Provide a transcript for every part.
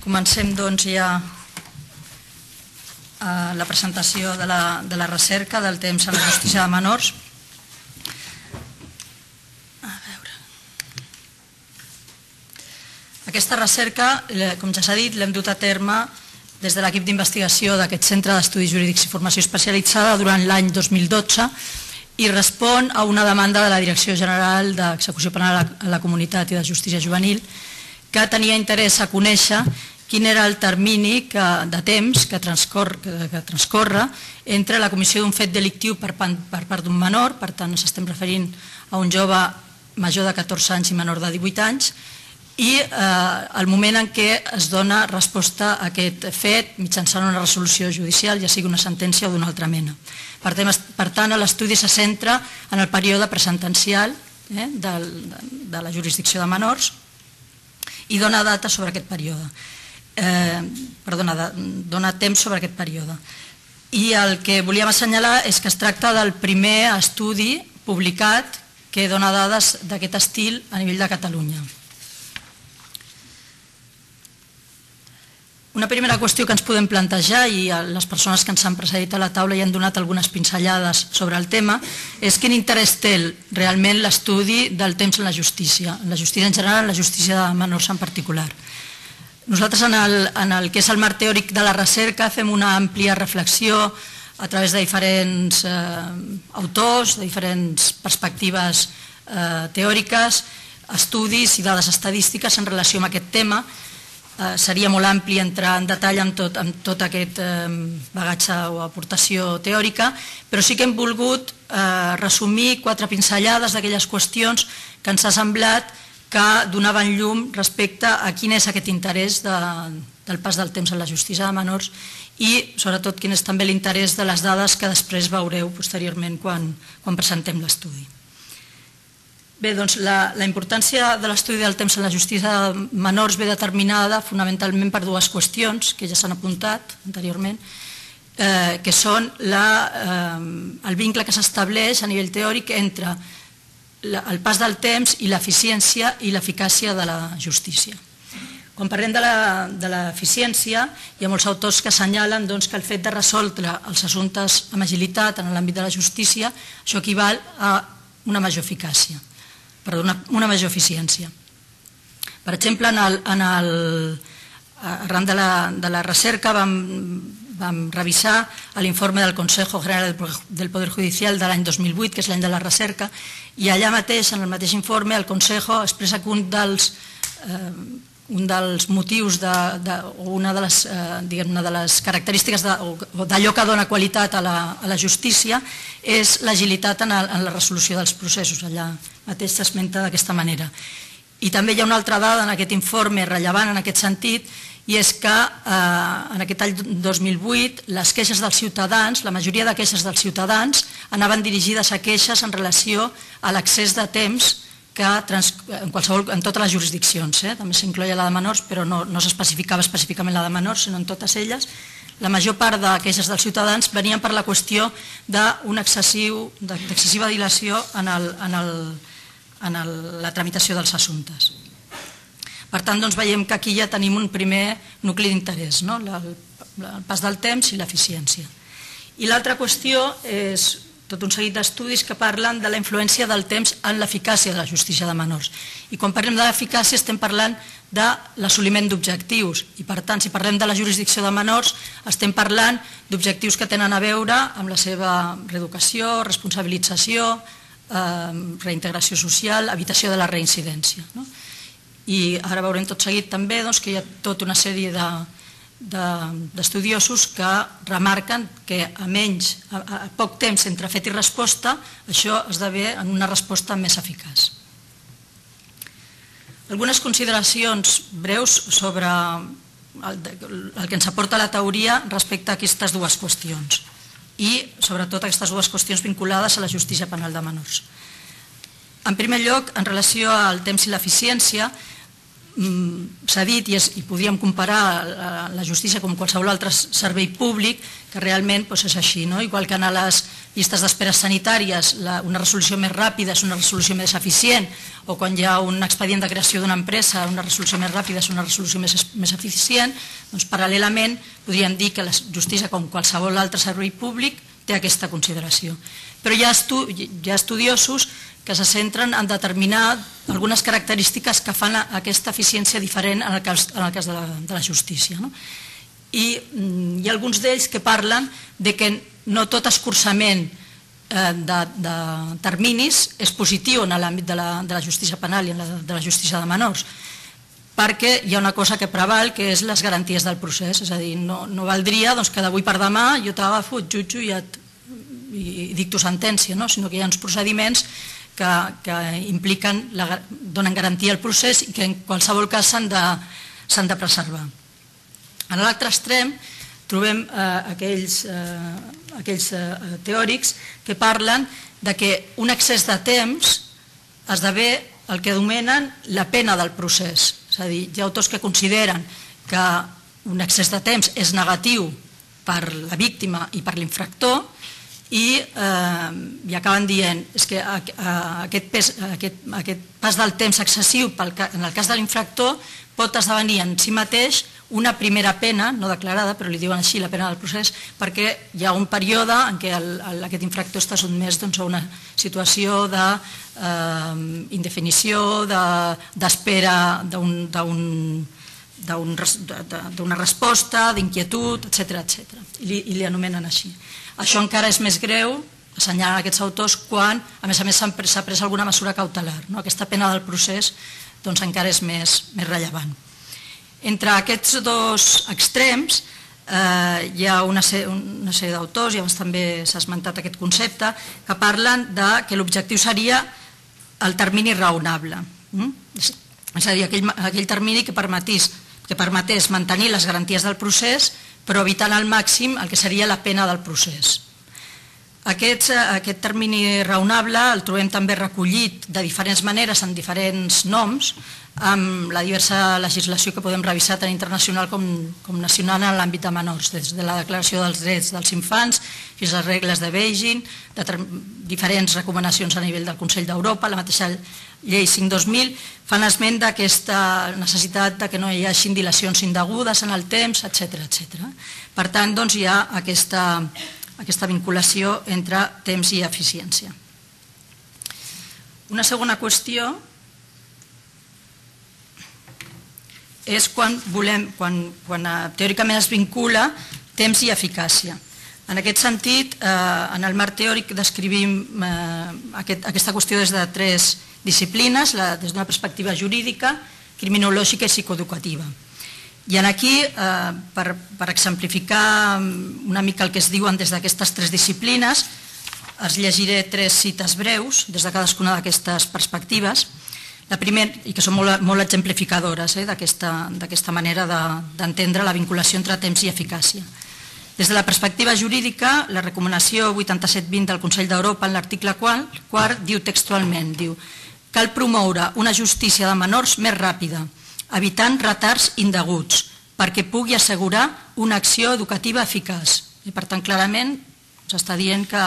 Comencem doncs ja la presentació de la recerca del temps en la justícia de menors. Aquesta recerca, com ja s'ha dit, l'hem dut a terme des de l'equip d'investigació d'aquest Centre d'Estudis Jurídics i Formació Especialitzada durant l'any 2012 i respon a una demanda de la Direcció General d'Execució Penal a la Comunitat i de Justícia Juvenil que tenia interès a conèixer quin era el termini de temps que transcorre entre la comissió d'un fet delictiu per part d'un menor, per tant ens estem referint a un jove major de 14 anys i menor de 18 anys, i el moment en què es dona resposta a aquest fet mitjançant una resolució judicial, ja sigui una sentència o d'una altra mena. Per tant, l'estudi se centra en el període presentencial de la jurisdicció de menors i dona data sobre aquest període. Dona temps sobre aquest període. I el que volíem assenyalar és que es tracta del primer estudi publicat que dona dades d'aquest estil a nivell de Catalunya. Una primera qüestió que ens podem plantejar, i les persones que ens han precedit a la taula ja han donat algunes pinzellades sobre el tema, és quin interès té realment l'estudi del temps en la justícia en general, en la justícia de menors en particular. Nosaltres en el que és el marc teòric de la recerca fem una àmplia reflexió a través de diferents autors, de diferents perspectives teòriques, estudis i dades estadístiques en relació amb aquest tema. Seria molt ampli entrar en detall amb tot aquest bagatge o aportació teòrica, però sí que hem volgut resumir 4 pinzellades d'aquelles qüestions que ens ha semblat que donaven llum respecte a quin és aquest interès del pas del temps en la justícia de menors i sobretot quin és també l'interès de les dades que després veureu posteriorment quan presentem l'estudi. Bé, doncs la importància de l'estudi del temps en la justícia de menors ve determinada fonamentalment per 2 qüestions que ja s'han apuntat anteriorment, que són el vincle que s'estableix a nivell teòric entre el pas del temps i l'eficiència i l'eficàcia de la justícia. Quan parlem de l'eficiència, hi ha molts autors que assenyalen que el fet de resoldre els assumptes amb agilitat en l'àmbit de la justícia, això equival a una major eficàcia. Una major eficiència. Per exemple, arran de la recerca vam revisar l'informe del Consejo General del Poder Judicial de l'any 2008, que és l'any de la recerca, i allà mateix, en el mateix informe, el Consejo expressa que un dels motius o una de les característiques d'allò que dona qualitat a la justícia és l'agilitat en la resolució dels processos. Allà mateix s'esmenta d'aquesta manera. I també hi ha una altra dada en aquest informe rellevant en aquest sentit, i és que en aquest any 2008 les queixes dels ciutadans, la majoria de queixes dels ciutadans anaven dirigides a queixes en relació a l'accés de temps en totes les jurisdiccions, també s'incloïa la de menors, però no s'especificava específicament la de menors, sinó en totes elles. La major part de queixes dels ciutadans venien per la qüestió d'una excessiva dilació en la tramitació dels assumptes. Per tant, veiem que aquí ja tenim un primer nucli d'interès, el pas del temps i l'eficiència. I l'altra qüestió és tot un seguit d'estudis que parlen de la influència del temps en l'eficàcia de la justícia de menors. I quan parlem de l'eficàcia estem parlant de l'assoliment d'objectius i, per tant, si parlem de la jurisdicció de menors estem parlant d'objectius que tenen a veure amb la seva reeducació, responsabilització, reintegració social, evitació de la reincidència. I ara veurem tot seguit també que hi ha tota una sèrie d'estudiosos que remarquen que a poc temps entre fet i resposta això esdevé en una resposta més eficaç. Algunes consideracions breus sobre el que ens aporta la teoria respecte a aquestes 2 qüestions i sobretot aquestes 2 qüestions vinculades a la justícia penal de menors. En primer lloc, en relació al temps i l'eficiència, s'ha dit i podríem comparar la justícia com qualsevol altre servei públic, que realment és així, igual que en les llistes d'esperes sanitàries, una resolució més ràpida és una resolució més eficient, o quan hi ha un expedient de creació d'una empresa, una resolució més ràpida és una resolució més eficient, doncs paral·lelament podríem dir que la justícia, com qualsevol altre servei públic, té aquesta consideració. Però hi ha estudiosos que se centren en determinar algunes característiques que fan aquesta eficiència diferent en el cas de la justícia. I hi ha alguns d'ells que parlen de que no tot escurçament de terminis és positiu en l'àmbit de la justícia penal i de la justícia de menors, perquè hi ha una cosa que preval, que és les garanties del procés. És a dir, no valdria que d'avui per demà jo t'agafo, et jutjo i dicto sentència, sinó que hi ha uns procediments que impliquen, donen garantia al procés i que en qualsevol cas s'han de preservar. En l'altre extrem trobem aquells teòrics que parlen que un excés de temps esdevé el que anomenen la pena del procés. És a dir, hi ha autors que consideren que un excés de temps és negatiu per la víctima i per l'infractor i acaben dient que aquest pas del temps excessiu en el cas de l'infractor pot esdevenir en si mateix una primera pena, no declarada, però li diuen així, la pena del procés, perquè hi ha un període en què aquest infractor està sotmès a una situació d'indefinició, d'espera d'una resposta, d'inquietud, etc. I li anomenen així. Això encara és més greu, assenyalen aquests autors, quan a més s'ha pres alguna mesura cautelar. Aquesta pena del procés encara és més rellevant. Entre aquests dos extrems hi ha una sèrie d'autors, i abans també s'ha esmentat aquest concepte, que parlen que l'objectiu seria el termini raonable. És a dir, aquell termini que permetés mantenir les garanties del procés, però evitant al màxim el que seria la pena del procés. Aquest termini raonable el trobem també recollit de diferents maneres, en diferents noms, amb la diversa legislació que podem revisar tant internacional com nacional en l'àmbit de menors, des de la Declaració dels Drets dels Infants fins a les regles de Beijing, diferents recomanacions a nivell del Consell d'Europa, la mateixa Llei 5/2000, fan esment d'aquesta necessitat que no hi hagi dilacions indegudes en el temps, etc. Per tant, hi ha aquesta vinculació entre temps i eficiència. Una segona qüestió és quan teòricament es vincula temps i eficàcia. En aquest sentit, en el marc teòric descrivim aquesta qüestió des de tres disciplines, des d'una perspectiva jurídica, criminològica i psicoeducativa. I aquí, per exemplificar una mica el que es diuen des d'aquestes tres disciplines, els llegiré tres cites breus des de cadascuna d'aquestes perspectives, la primera, i que són molt exemplificadores d'aquesta manera d'entendre la vinculació entre temps i eficàcia. Des de la perspectiva jurídica, la recomanació 8720 del Consell d'Europa, en l'article 4, diu textualment, cal promoure una justícia de menors més ràpida, evitant retards indeguts, perquè pugui assegurar una acció educativa eficaç. I per tant, clarament, s'està dient que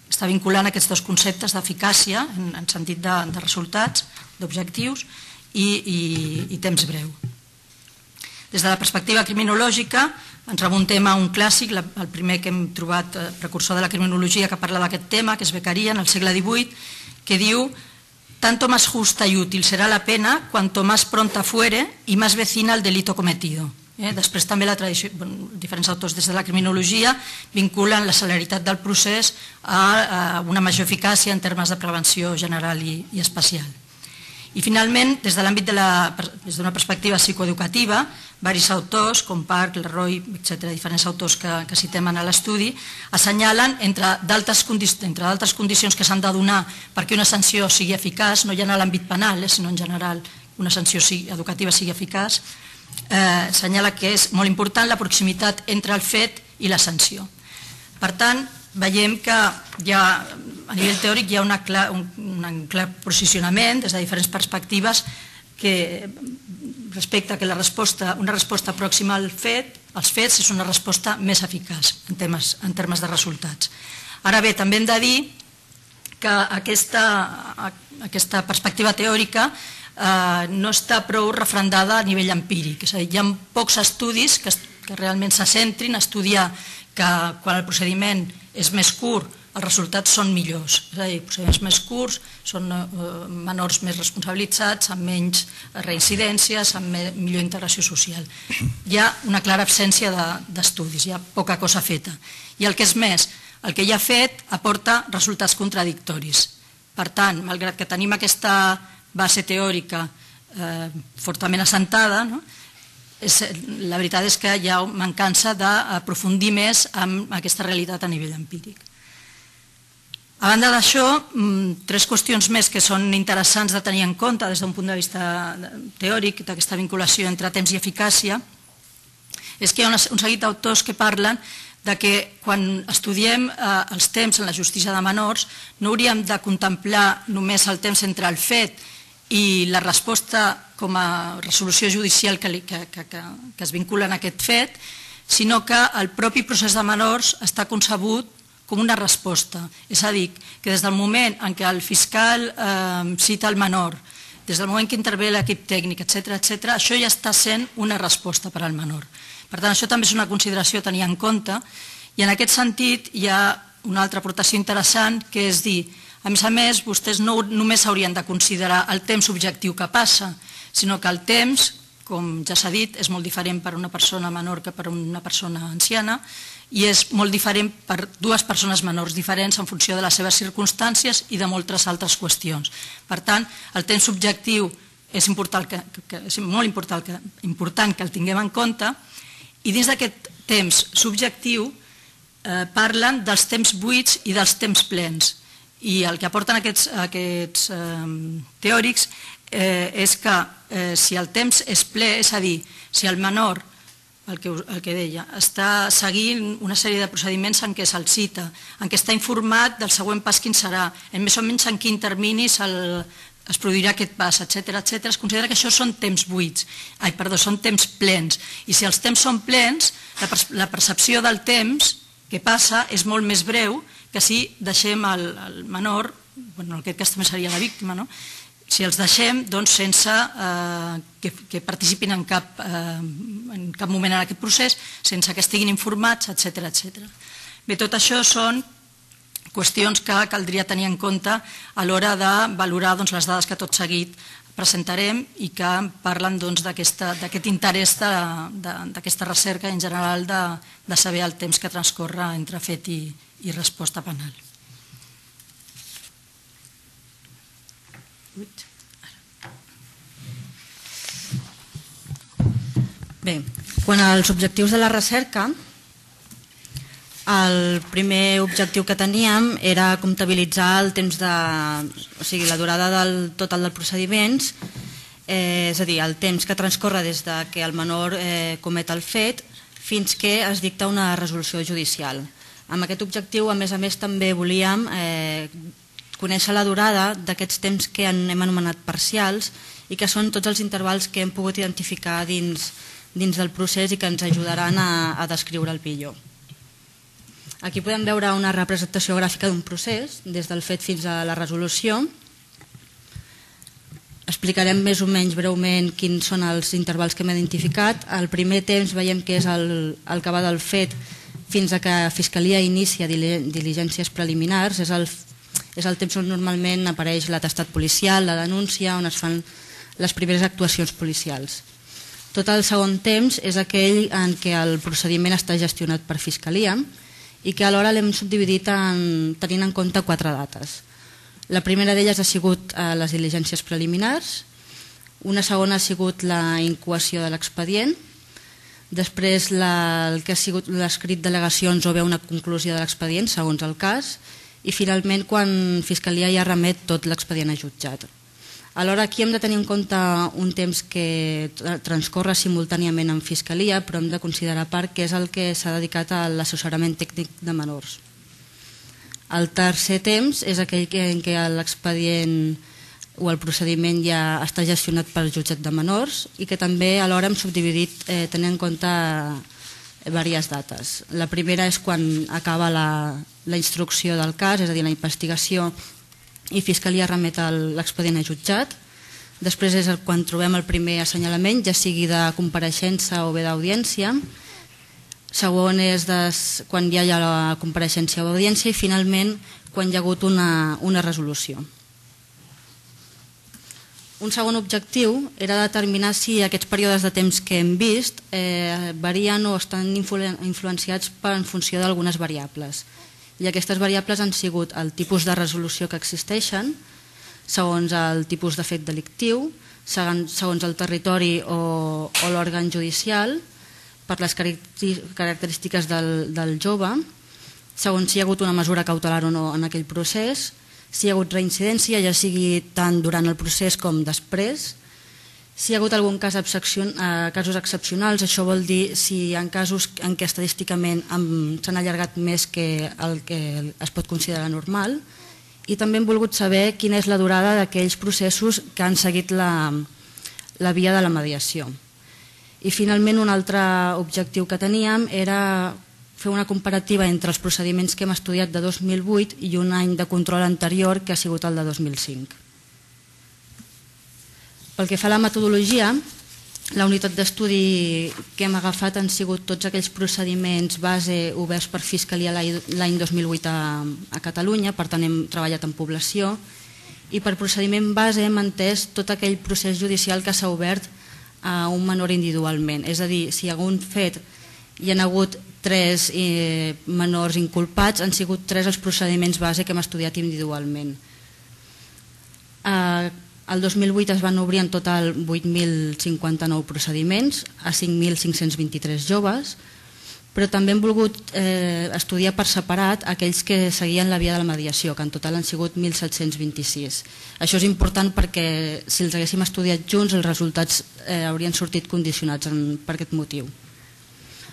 està vinculant aquests dos conceptes d'eficàcia, en sentit de resultats, d'objectius, i temps breu. Des de la perspectiva criminològica, ens remuntem a un clàssic, el primer que hem trobat precursor de la criminologia que parla d'aquest tema, que és Beccaria, en el segle XVIII, que diu: tanto más justa y útil será la pena cuanto más pronta fuere y más vecina al delito cometido. Després també diferents autors des de la criminologia vinculen la celeritat del procés a una major eficàcia en termes de prevenció general i especial. I finalment, des de l'àmbit d'una perspectiva psicoeducativa, diversos autors, com Park, Leroy, etc., diferents autors que citem en l'estudi, assenyalen, entre d'altres condicions que s'han de donar perquè una sanció sigui eficaç, no ja en l'àmbit penal, sinó en general una sanció educativa sigui eficaç, assenyala que és molt important la proximitat entre el fet i la sanció. Per tant, veiem que a nivell teòric hi ha un clar posicionament des de diferents perspectives respecte que una resposta pròxima als fets és una resposta més eficaç en termes de resultats. Ara bé, també hem de dir que aquesta perspectiva teòrica no està prou refrendada a nivell empíric. És a dir, hi ha pocs estudis que realment se centrin a estudiar que quan el procediment és més curt els resultats són millors. És a dir, procediments més curts són menors més responsabilitzats, amb menys reincidències, amb millor integració social. Hi ha una clara absència d'estudis, hi ha poca cosa feta. I el que és més, el que hi ha fet aporta resultats contradictoris. Per tant, malgrat que tenim aquesta base teòrica fortament assentada, la veritat és que hi ha mancança d'aprofundir més en aquesta realitat a nivell empíric. A banda d'això, tres qüestions més que són interessants de tenir en compte des d'un punt de vista teòric, d'aquesta vinculació entre temps i eficàcia, és que hi ha un seguit d'autors que parlen de que quan estudiem els temps en la justícia de menors no hauríem de contemplar només el temps entre el fet i la resposta com a resolució judicial que es vincula en aquest fet, sinó que el propi procés de menors està concebut com una resposta. És a dir, que des del moment en què el fiscal cita el menor, des del moment que intervé l'equip tècnic, etc., això ja està sent una resposta per al menor. Per tant, això també és una consideració a tenir en compte i en aquest sentit hi ha una altra aportació interessant que és dir, a més, vostès no només haurien de considerar el temps objectiu que passa, sinó que el temps, com ja s'ha dit, és molt diferent per a una persona menor que per a una persona anciana i és molt diferent per dues persones menors diferents en funció de les seves circumstàncies i de moltes altres qüestions. Per tant, el temps subjectiu és molt important que el tinguem en compte i dins d'aquest temps subjectiu parlen dels temps buits i dels temps plens. I el que aporten aquests teòrics és que si el temps és ple, és a dir, si el menor, el que deia, està seguint una sèrie de procediments en què se'l cita, en què està informat del següent pas quin serà, en més o menys en quin termini es produirà aquest pas, etc., es considera que això són temps buits, són temps plens. I si els temps són plens, la percepció del temps que passa és molt més breu que si deixem el menor, en aquest cas també seria la víctima, si els deixem sense que participin en cap moment en aquest procés, sense que estiguin informats, etc. Bé, tot això són qüestions que caldria tenir en compte a l'hora de valorar les dades que tot seguit presentarem i que parlen d'aquest interès d'aquesta recerca en general de saber el temps que transcorre entre fet i resposta penal. Bé, quant als objectius de la recerca, el primer objectiu que teníem era comptabilitzar el temps la durada total dels procediments, és a dir, el temps que transcorre des que el menor comet el fet fins que es dicta una resolució judicial. Amb aquest objectiu, a més, també volíem conèixer la durada d'aquests temps que hem anomenat parcials i que són tots els intervals que hem pogut identificar dins del procés i que ens ajudaran a descriure'l millor. Aquí podem veure una representació gràfica d'un procés, des del fet fins a la resolució. Explicarem més o menys breument quins són els intervals que hem identificat. El primer temps veiem que és el que va del fet fins a que la Fiscalia inicia diligències preliminars. És el temps on normalment apareix l'atestat policial, la denúncia, on es fan les primeres actuacions policials. Tot el segon temps és aquell en què el procediment està gestionat per Fiscalia i que alhora l'hem subdividit tenint en compte 4 dates. La primera d'elles ha sigut les diligències preliminars, una segona ha sigut la incoació de l'expedient, després el que ha sigut l'escrit d'al·legacions o bé una conclusió de l'expedient, segons el cas, i finalment quan Fiscalia ja remet tot l'expedient a jutjat. Alhora aquí hem de tenir en compte un temps que transcorre simultàniament en Fiscalia, però hem de considerar a part que és el que s'ha dedicat a l'assessorament tècnic de menors. El tercer temps és aquell en què l'expedient o el procediment ja està gestionat pel jutjat de menors i que també alhora hem subdividit tenint en compte diverses dates. La primera és quan acaba la instrucció del cas, és a dir, la investigació, i Fiscalia remet l'expedient a jutjat. Després és quan trobem el primer assenyalament, ja sigui de compareixença o bé d'audiència. Segon és quan ja hi ha la compareixença o audiència i finalment quan hi ha hagut una resolució. Un segon objectiu era determinar si aquests períodes de temps que hem vist varien o estan influenciats en funció d'algunes variables. I aquestes variables han sigut el tipus de resolució que existeixen, segons el tipus de fet delictiu, segons el territori o l'òrgan judicial, per les característiques del jove, segons si hi ha hagut una mesura cautelar o no en aquell procés, si hi ha hagut reincidència, ja sigui tant durant el procés com després, si hi ha hagut algun casos excepcionals, això vol dir si hi ha casos en què estadísticament s'han allargat més que el que es pot considerar normal, i també hem volgut saber quina és la durada d'aquells processos que han seguit la via de la mediació. I finalment un altre objectiu que teníem era fer una comparativa entre els procediments que hem estudiat de 2008 i un any de control anterior que ha sigut el de 2005. Pel que fa a la metodologia, la unitat d'estudi que hem agafat han sigut tots aquells procediments base oberts per Fiscalia l'any 2008 a Catalunya, per tant hem treballat en població, i per procediment base hem entès tot aquell procés judicial que s'ha obert a un menor individualment. És a dir, si hi ha algun fet hi ha hagut 3 menors inculpats, han sigut 3 els procediments base que hem estudiat individualment. El 2008 es van obrir en total 8.059 procediments a 5.523 joves, però també hem volgut estudiar per separat aquells que seguien la via de la mediació, que en total han sigut 1.726. Això és important perquè si els haguéssim estudiat junts els resultats haurien sortit condicionats per aquest motiu.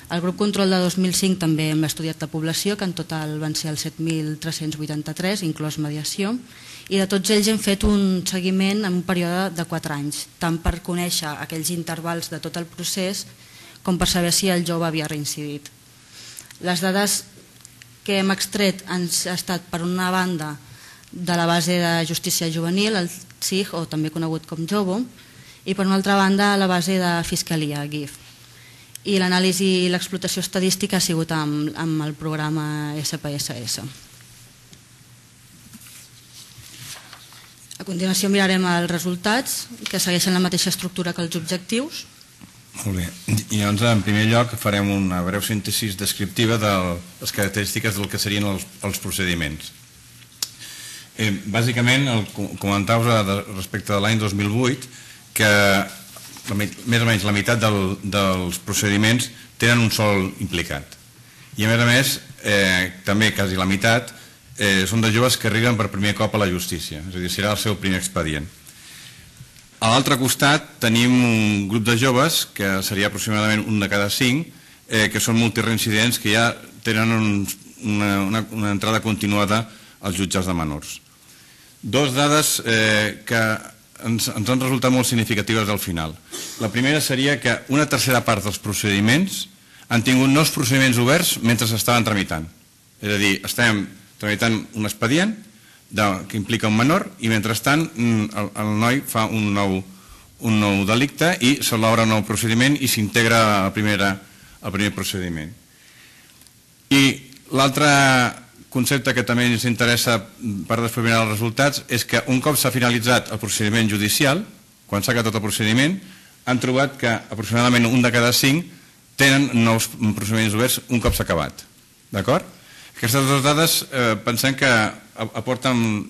El grup control de 2005 també hem estudiat la població, que en total van ser els 7.383, inclòs mediació, i de tots ells hem fet un seguiment en un període de 4 anys, tant per conèixer aquells intervals de tot el procés com per saber si el jove havia reincidit. Les dades que hem extret han estat, per una banda, de la base de justícia juvenil, el CIG, o també conegut com JOVO, i per una altra banda, la base de Fiscalia, GIF. I l'anàlisi i l'explotació estadística ha sigut amb el programa SPSS. A continuació mirarem els resultats, que segueixen la mateixa estructura que els objectius. Molt bé. I llavors, en primer lloc, farem una breu síntesi descriptiva de les característiques del que serien els procediments. Bàsicament, comentau-vos respecte de l'any 2008 que més o menys la meitat dels procediments tenen un sol implicat. I a més, també quasi la meitat són de joves que arriben per primer cop a la justícia, és a dir, serà el seu primer expedient. A l'altre costat tenim un grup de joves, que seria aproximadament un de cada 5, que són multireincidents que ja tenen una entrada continuada als jutjats de menors. 2 dades que ens han resultat molt significatives al final. La primera seria que una tercera part dels procediments han tingut nous procediments oberts mentre s'estaven tramitant. És a dir, estem tramitant un expedient que implica un menor i mentrestant el noi fa un nou delicte i se l'obre un nou procediment i s'integra al primer procediment. I l'altre concepte que també ens interessa per determinar els resultats és que un cop s'ha finalitzat el procediment judicial, quan s'ha acabat el procediment, han trobat que aproximadament un de cada 5 tenen nous procediments oberts un cop s'ha acabat. D'acord? Aquestes 2 dades pensem que aporten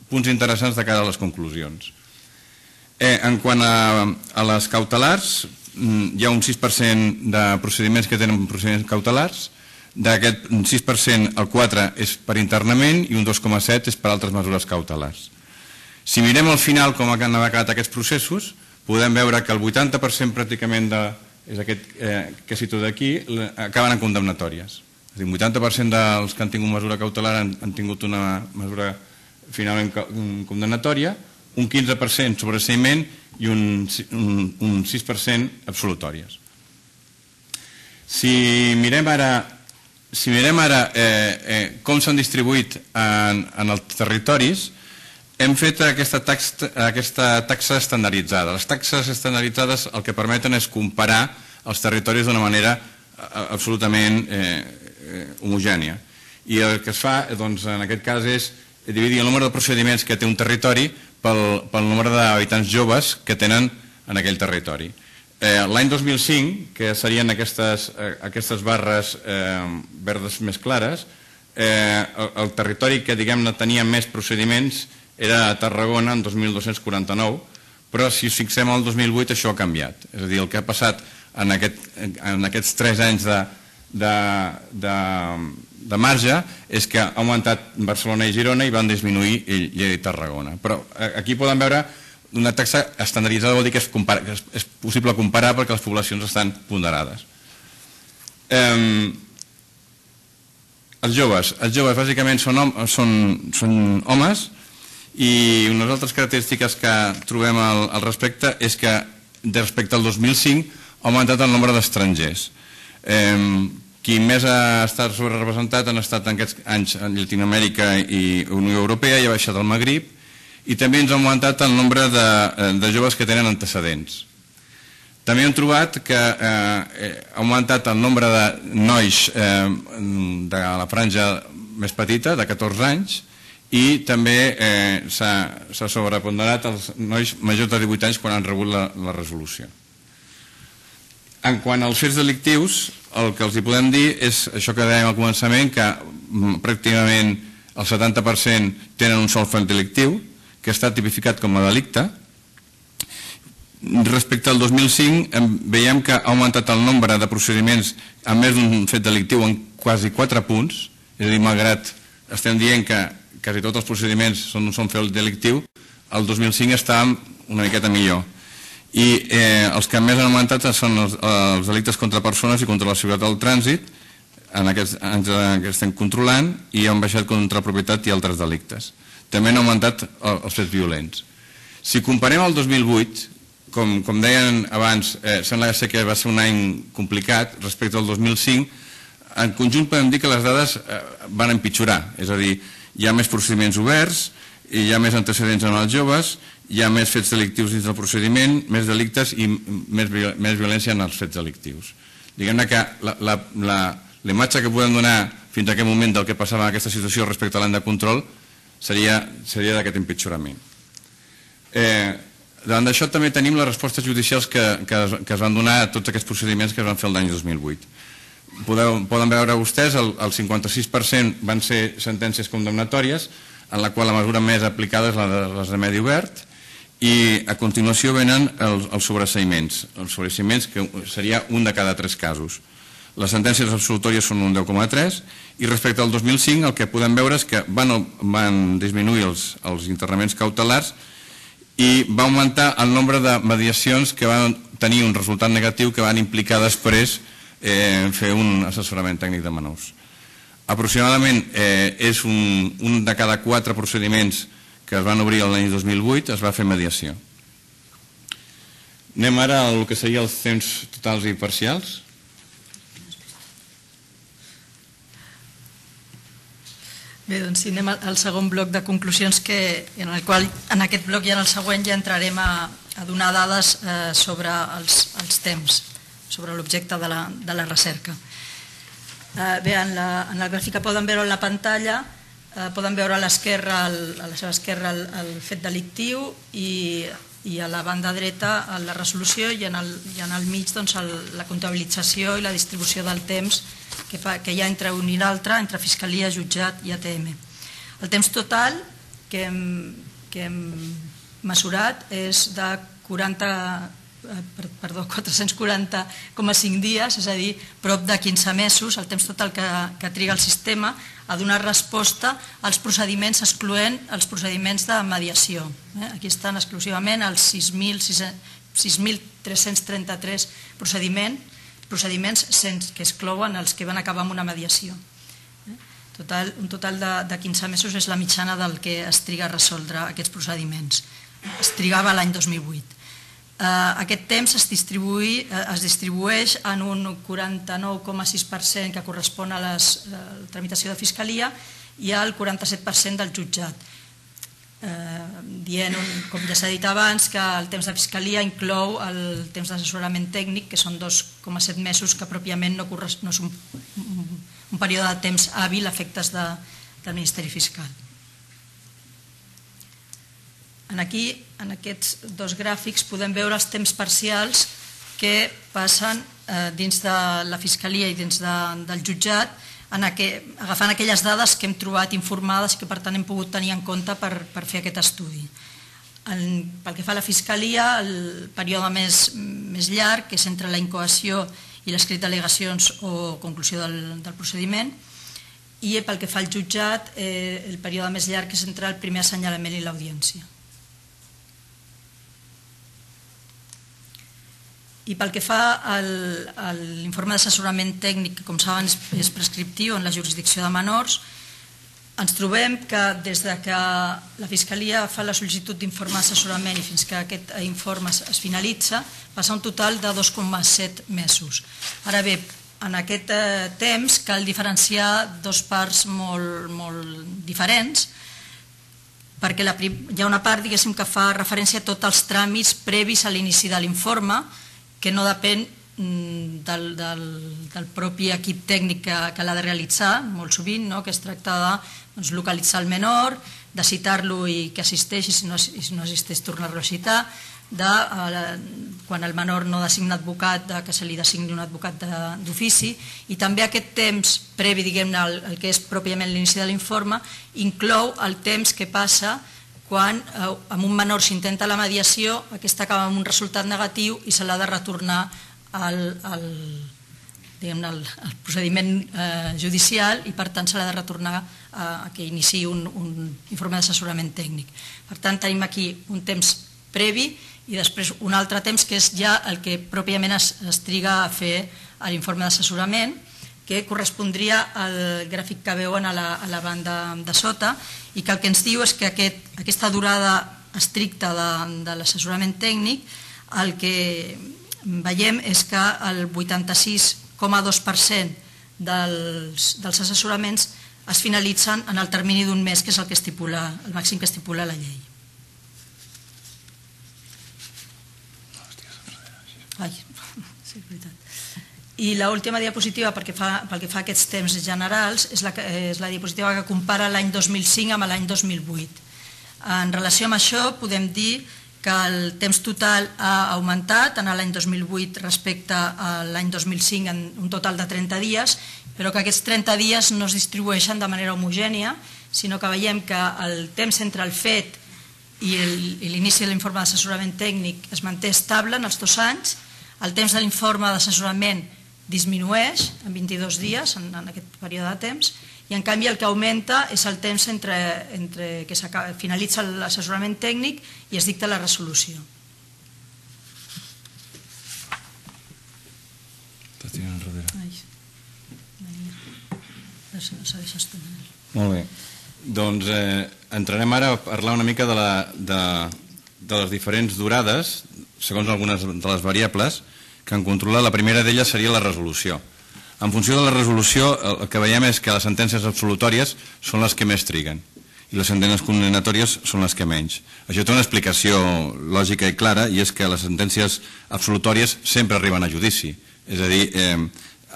punts interessants de cara a les conclusions. En quant a les cautelars, hi ha un 6% de procediments que tenen procediments cautelars. D'aquest 6%, el 4% és per internament i un 2,7% és per altres mesures cautelars. Si mirem al final com han acabat aquests processos, podem veure que el 80% pràcticament és aquest que situo d'aquí, acaben en condemnatòries. És a dir, un 80% dels que han tingut mesura cautelar han tingut una mesura finalment condemnatòria, un 15% sobreseïment i un 6% absolutòries. Si mirem ara com s'han distribuït en els territoris, hem fet aquesta taxa estandarditzada. Les taxes estandarditzades el que permeten és comparar els territoris d'una manera absolutament homogènia. I el que es fa, en aquest cas, és dividir el número de procediments que té un territori pel nombre d'habitants joves que tenen en aquell territori. L'any 2005, que serien aquestes barres verdes més clares, el territori que, diguem-ne, tenia més procediments era a Tarragona, en 2.249, però si ens fixem al 2008 això ha canviat. És a dir, el que ha passat en aquests 3 anys de marge és que ha augmentat Barcelona i Girona i van disminuir Lleida i Tarragona. Però aquí poden veure una taxa estandarditzada, vol dir que és possible comparar perquè les poblacions estan ponderades. Els joves bàsicament són homes, i unes altres característiques que trobem al respecte és que respecte al 2005 ha augmentat el nombre d'estrangers. Qui més ha estat sobrerepresentat han estat en aquests anys en Llatinoamèrica i Unió Europea, i ha baixat el Magrib, i també ens ha augmentat el nombre de joves que tenen antecedents. També hem trobat que ha augmentat el nombre de nois de la franja més petita, de 14 anys, i també s'ha sobreponderat els nois majors de 18 anys quan han rebut la resolució. En quant als fets delictius, el que els hi podem dir és això que dèiem al començament, que pràcticament el 70% tenen un sol fet delictiu, que està tipificat com a delicte. Respecte al 2005 veiem que ha augmentat el nombre de procediments amb més d'un fet delictiu en quasi 4 punts, és a dir, malgrat estem dient que quasi tots els procediments són un fet delictiu, el 2005 estàvem una miqueta millor. I els que més han augmentat són els delictes contra persones i contra la seguretat del trànsit, en aquests anys que estem controlant, i han baixat contra la propietat i altres delictes. També han augmentat els fets violents. Si comparem el 2008, com deien abans, sembla que va ser un any complicat respecte al 2005, en conjunt podem dir que les dades van empitjorar, és a dir, hi ha més procediments oberts, hi ha més antecedents en els joves, hi ha més fets delictius dins del procediment, més delictes i més violència en els fets delictius. Diguem-ne que la imatge que podem donar fins a aquest moment del que passava en aquesta situació respecte a l'any de control seria d'aquest empitjorament. Davant d'això també tenim les respostes judicials que es van donar a tots aquests procediments que es van fer l'any 2008. Poden veure vostès, el 56% van ser sentències condemnatòries, en la qual la mesura més aplicada és les de medi obert, i a continuació venen els sobreseïments. Els sobreseïments, que seria un de cada 3 casos. Les sentències absolutòries són un 10,3, i respecte al 2005 el que podem veure és que van disminuir els internaments cautelars i va augmentar el nombre de mediacions que van tenir un resultat negatiu que van implicar després fer un assessorament tècnic de menors. Aproximadament és un de cada 4 procediments que es van obrir l'any 2008 es va fer mediació. Anem ara al que seria els temps totals i parcials. Bé, doncs si anem al segon bloc de conclusions, en el qual en aquest bloc i en el següent ja entrarem a donar dades sobre els temps, sobre l'objecte de la recerca. Bé, en la gràfica poden veure en la pantalla, poden veure a la seva esquerra el fet delictiu i a la banda dreta la resolució, i en el mig la comptabilització i la distribució del temps que hi ha entre un i l'altre, entre Fiscalia, Jutjat i ATM. El temps total que hem mesurat és de 440,5 dies, és a dir, prop de 15 mesos, el temps total que triga el sistema a donar resposta als procediments, excloent els procediments de mediació. Aquí estan exclusivament els 6.333 procediments que exclouen els que van acabar amb una mediació. Un total de 15 mesos és la mitjana del que es triga a resoldre aquests procediments. Es trigava l'any 2008. Aquest temps es distribueix en un 49,6% que correspon a la tramitació de Fiscalia i al 47% del jutjat. Dient, com ja s'ha dit abans, que el temps de Fiscalia inclou el temps d'assessorament tècnic, que són 2,7 mesos, que pròpiament no és un període de temps hàbil a efectes del Ministeri Fiscal. Aquí, en aquests dos gràfics, podem veure els temps parcials que passen dins de la Fiscalia i dins del jutjat, agafant aquelles dades que hem trobat informades i que per tant hem pogut tenir en compte per fer aquest estudi. Pel que fa a la Fiscalia, el període més llarg, que és entre la incoació i l'escrit d'al·legacions o conclusió del procediment, i pel que fa al jutjat, el període més llarg és entre el primer assenyalament i l'audiència. I pel que fa a l'informe d'assessorament tècnic, que com saben és prescriptiu en la jurisdicció de menors, ens trobem que des que la Fiscalia fa la sol·licitud d'informe d'assessorament i fins que aquest informe es finalitza, passa un total de 2,7 mesos. Ara bé, en aquest temps cal diferenciar dues parts molt diferents, perquè hi ha una part, diguéssim, que fa referència a tots els tràmits previs a l'inici de l'informe, que no depèn del propi equip tècnic que l'ha de realitzar, molt sovint, que es tracta de localitzar el menor, de citar-lo i que assisteixi, si no assisteix tornar-lo a citar, quan el menor no designa advocat, que se li designi un advocat d'ofici, i també aquest temps previ, diguem-ne, el que és pròpiament l'inici de l'informe, inclou el temps que passa quan amb un menor s'intenta la mediació, aquesta acaba amb un resultat negatiu i se l'ha de retornar al procediment judicial i per tant se l'ha de retornar a que iniciï un informe d'assessorament tècnic. Per tant, tenim aquí un temps previ i després un altre temps que és ja el que pròpiament es triga a fer l'informe d'assessorament, que correspondria al gràfic que veuen a la banda de sota i que el que ens diu és que aquesta durada estricta de l'assessorament tècnic, el que veiem és que el 86,2% dels assessoraments es finalitzen en el termini d'un mes, que és el màxim que estipula la llei. Sí, és veritat. I l'última diapositiva, pel que fa a aquests temps generals, és la diapositiva que compara l'any 2005 amb l'any 2008. En relació amb això, podem dir que el temps total ha augmentat en l'any 2008 respecte a l'any 2005 en un total de 30 dies, però que aquests 30 dies no es distribueixen de manera homogènia, sinó que veiem que el temps entre el fet i l'inici de l'informe d'assessorament tècnic es manté estable en els 2 anys, el temps de l'informe d'assessorament disminueix en 22 dies en aquest període de temps i en canvi el que augmenta és el temps entre que finalitza l'assessorament tècnic i es dicta la resolució. Molt bé. Doncs entrarem ara a parlar una mica de les diferents durades segons algunes de les variables que en controla. La primera d'elles seria la resolució. En funció de la resolució, el que veiem és que les sentències absolutòries són les que més triguen i les sentències condemnatòries són les que menys. Això té una explicació lògica i clara, i és que les sentències absolutòries sempre arriben a judici. És a dir,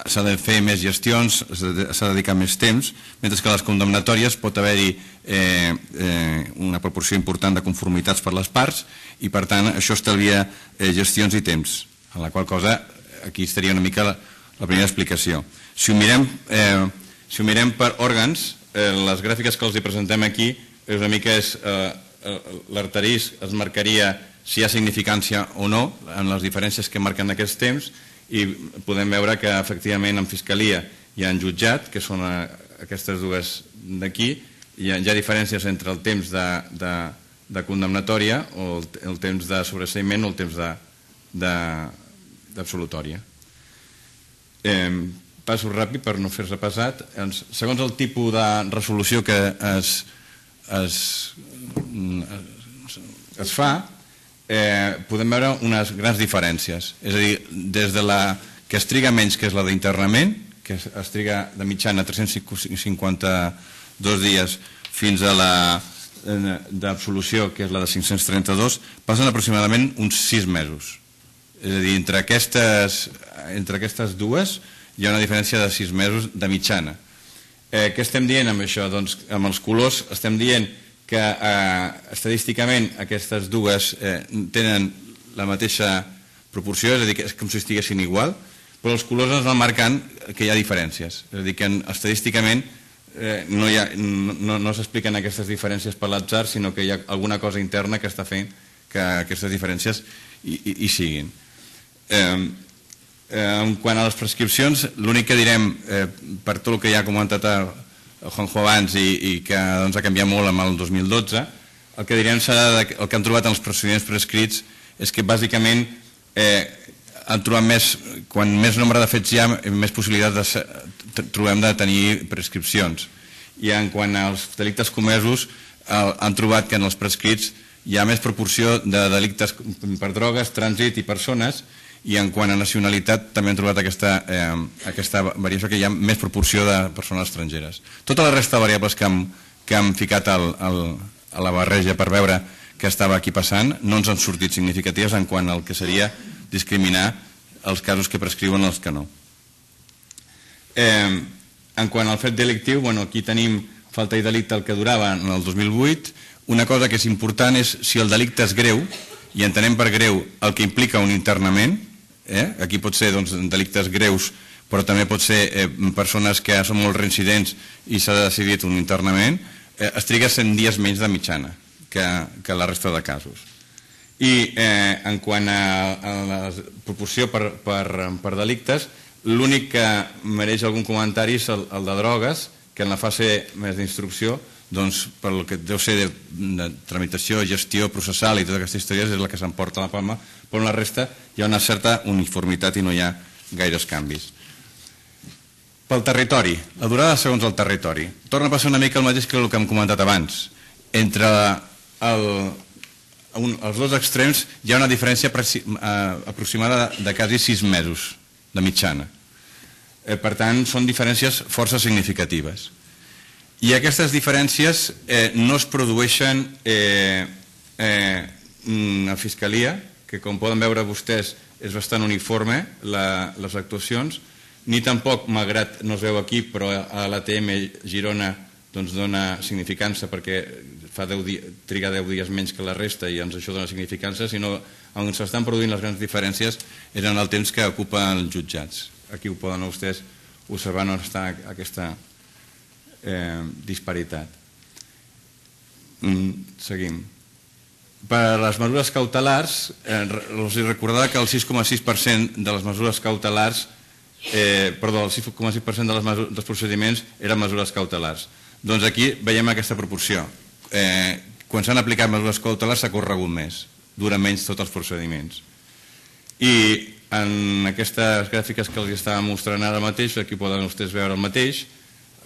s'ha de fer més gestions, s'ha de dedicar més temps, mentre que a les condemnatòries pot haver-hi una proporció important de conformitats per les parts i per tant això estalvia gestions i temps, en la qual cosa aquí estaria una mica la primera explicació. Si ho mirem per òrgans, les gràfiques que els presentem aquí és una mica l'arterís es marcaria si hi ha significància o no en les diferències que marquen aquests temps i podem veure que efectivament en Fiscalia i en jutjat, que són aquestes dues d'aquí, hi ha diferències entre el temps de condemnatòria o el temps de sobreseïment o el temps d'absolutòria. Passo ràpid per no fer-se pesat. Segons el tipus de resolució que es fa, podem veure unes grans diferències. És a dir, des de la que es triga menys, que és la d'internament, que es triga de mitjana 352 dies, fins a la d'absolució, que és la de 532, passen aproximadament uns 6 mesos. És a dir, entre aquestes dues hi ha una diferència de 6 mesos de mitjana. Què estem dient amb això? Doncs amb els colors estem dient que estadísticament aquestes dues tenen la mateixa proporció, és a dir, que és com si estiguessin igual, però els colors ens van marcant que hi ha diferències. És a dir, que estadísticament no s'expliquen aquestes diferències per l'atzar, sinó que hi ha alguna cosa interna que està fent que aquestes diferències hi siguin. En quant a les prescripcions, l'únic que direm, per tot el que ja ha comentat Juanjo abans i que ha canviat molt amb el 2012, el que direm serà el que han trobat en els procediments prescrits és que bàsicament han trobat quan més nombre de fets hi ha, més possibilitats trobem de tenir prescripcions. I en quant als delictes comesos han trobat que en els prescrits hi ha més proporció de delictes per drogues, trànsit i persones, i en quant a nacionalitat també han trobat aquesta variació, que hi ha més proporció de persones estrangeres. Tota la resta de variables que hem ficat a la barreja per veure què estava aquí passant no ens han sortit significatives en quant al que seria discriminar els casos que prescriuen els que no. En quant al fet delictiu, aquí tenim falta i delicte el que durava en el 2008. Una cosa que és important és si el delicte és greu, i entenem per greu el que implica un internament. Aquí pot ser delictes greus, però també pot ser persones que són molt reincidents i s'ha decidit un internament, es triga 100 dies menys de mitjana que la resta de casos. I en quant a la proporció per delictes, l'únic que mereix algun comentari és el de drogues, que en la fase més d'instrucció, per el que deu ser de tramitació, gestió processal i totes aquestes històries, és la que s'emporta la palma, però en la resta hi ha una certa uniformitat i no hi ha gaires canvis. Pel territori, la durada segons el territori. Torna a passar una mica el mateix que el que hem comentat abans. Entre els dos extrems hi ha una diferència aproximada de quasi 6 mesos de mitjana. Per tant, són diferències força significatives. I aquestes diferències no es produeixen a Fiscalia, que com poden veure vostès és bastant uniforme les actuacions, ni tampoc, malgrat no es veu aquí, però a l'ATM Girona dona significança perquè triga 10 dies menys que la resta i això dona significança, sinó on s'estan produint les grans diferències és en el temps que ocupen els jutjats. Aquí ho poden vostès observar on està aquesta disparitat. Seguim. Per a les mesures cautelars, els recordava que el 6,6% de les mesures cautelars, perdó, el 6,6% dels procediments eren mesures cautelars. Doncs aquí veiem aquesta proporció. Quan s'han aplicat mesures cautelars s'ha corregut més, duren menys tots els procediments. I en aquestes gràfiques que els estava mostrant ara mateix, aquí poden vostès veure el mateix,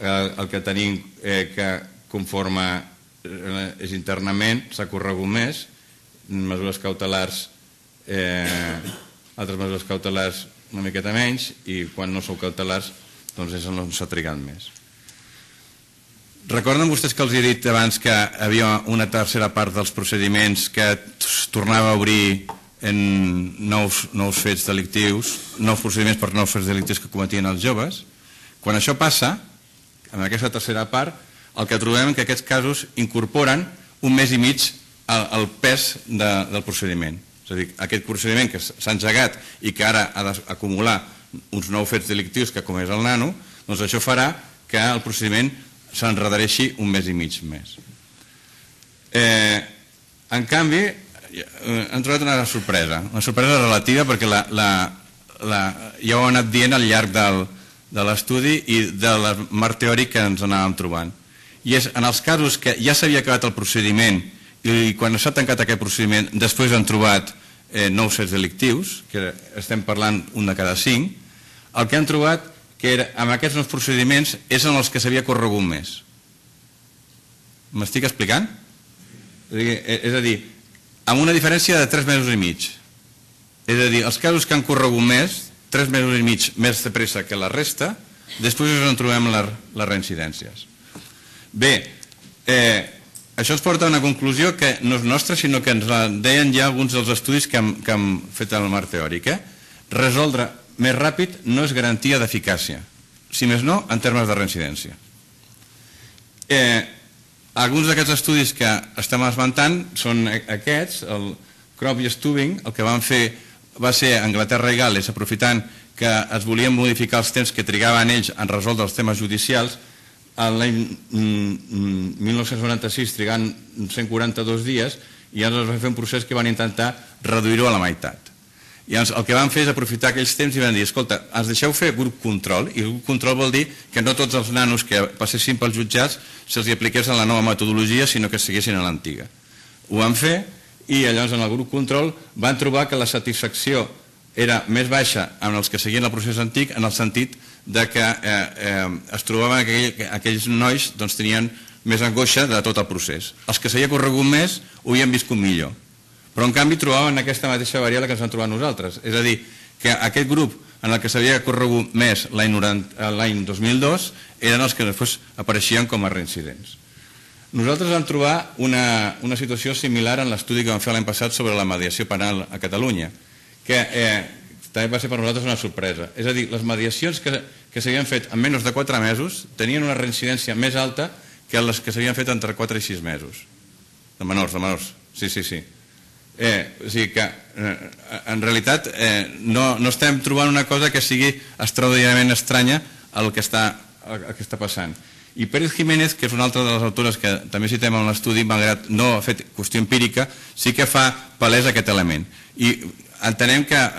el que tenim que conforme és internament s'ha corregut més, mesures cautelars, altres mesures cautelars una miqueta menys, i quan no són cautelars doncs és on s'ha trigat més. Recorden vostès que els he dit abans que havia una tercera part dels procediments que es tornava a obrir en nous fets delictius, nous procediments per nous fets delictius que cometien els joves? Quan això passa, en aquesta tercera part, el que trobem és que aquests casos incorporen un mes i mig el pes del procediment. És a dir, aquest procediment que s'ha engegat i que ara ha d'acumular uns nous fets delictius que com és el nano, doncs això farà que el procediment s'enredareixi un mes i mig més. En canvi, hem trobat una sorpresa relativa perquè ja ho hem anat dient al llarg de l'estudi i del marc teòric que ens anàvem trobant. I és en els casos que ja s'havia acabat el procediment i quan s'ha tancat aquest procediment després han trobat nous fets delictius, que estem parlant un de cada 5, el que han trobat que amb aquests nous procediments és en els que s'havia corregut més. M'estic explicant? És a dir, amb una diferència de 3 mesos i mig. És a dir, els casos que han corregut més, 3 mesos i mig més de pressa que la resta, després és on trobem les reincidències. Bé, això ens porta a una conclusió que no és nostra, sinó que ens la deien ja alguns dels estudis que hem fet en el marc teòric. Resoldre més ràpid no és garantia d'eficàcia, si més no, en termes de reincidència. Alguns d'aquests estudis que estem esmentant són aquests, el Crop i Stubing, el que van fer va ser Anglaterra i Gal·les, aprofitant que es volien modificar els temps que trigaven ells en resoldre els temes judicials, l'any 1996 trigant 142 dies, i llavors es va fer un procés que van intentar reduir-ho a la meitat. I llavors el que van fer és aprofitar aquells temps i van dir, escolta, ens deixeu fer grup control, i grup control vol dir que no tots els nanos que passessin pels jutjats se'ls apliqués a la nova metodologia, sinó que seguissin a l'antiga. Ho van fer, i llavors en el grup control van trobar que la satisfacció era més baixa en els que seguien el procés antic, en el sentit de que es trobaven que aquells nois tenien més angoixa de tot el procés. Els que s'havia corregut més ho havien viscut millor, però en canvi trobaven aquesta mateixa variable que ens vam trobar nosaltres, és a dir, que aquest grup en el que s'havia corregut més l'any 2002 eren els que després apareixien com a reincidents. Nosaltres vam trobar una situació similar en l'estudi que vam fer l'any passat sobre la mediació penal a Catalunya, que també va ser per nosaltres una sorpresa. És a dir, les mediacions que s'havien fet en menys de 4 mesos tenien una reincidència més alta que les que s'havien fet entre 4 i 6 mesos. De menors. Sí. O sigui que, en realitat, no estem trobant una cosa que sigui extraordinàriament estranya al que està passant. I Pérez Jiménez, que és una altra de les autores que també citem en l'estudi, malgrat no ha fet qüestió empírica, sí que fa palès aquest element. I entenem que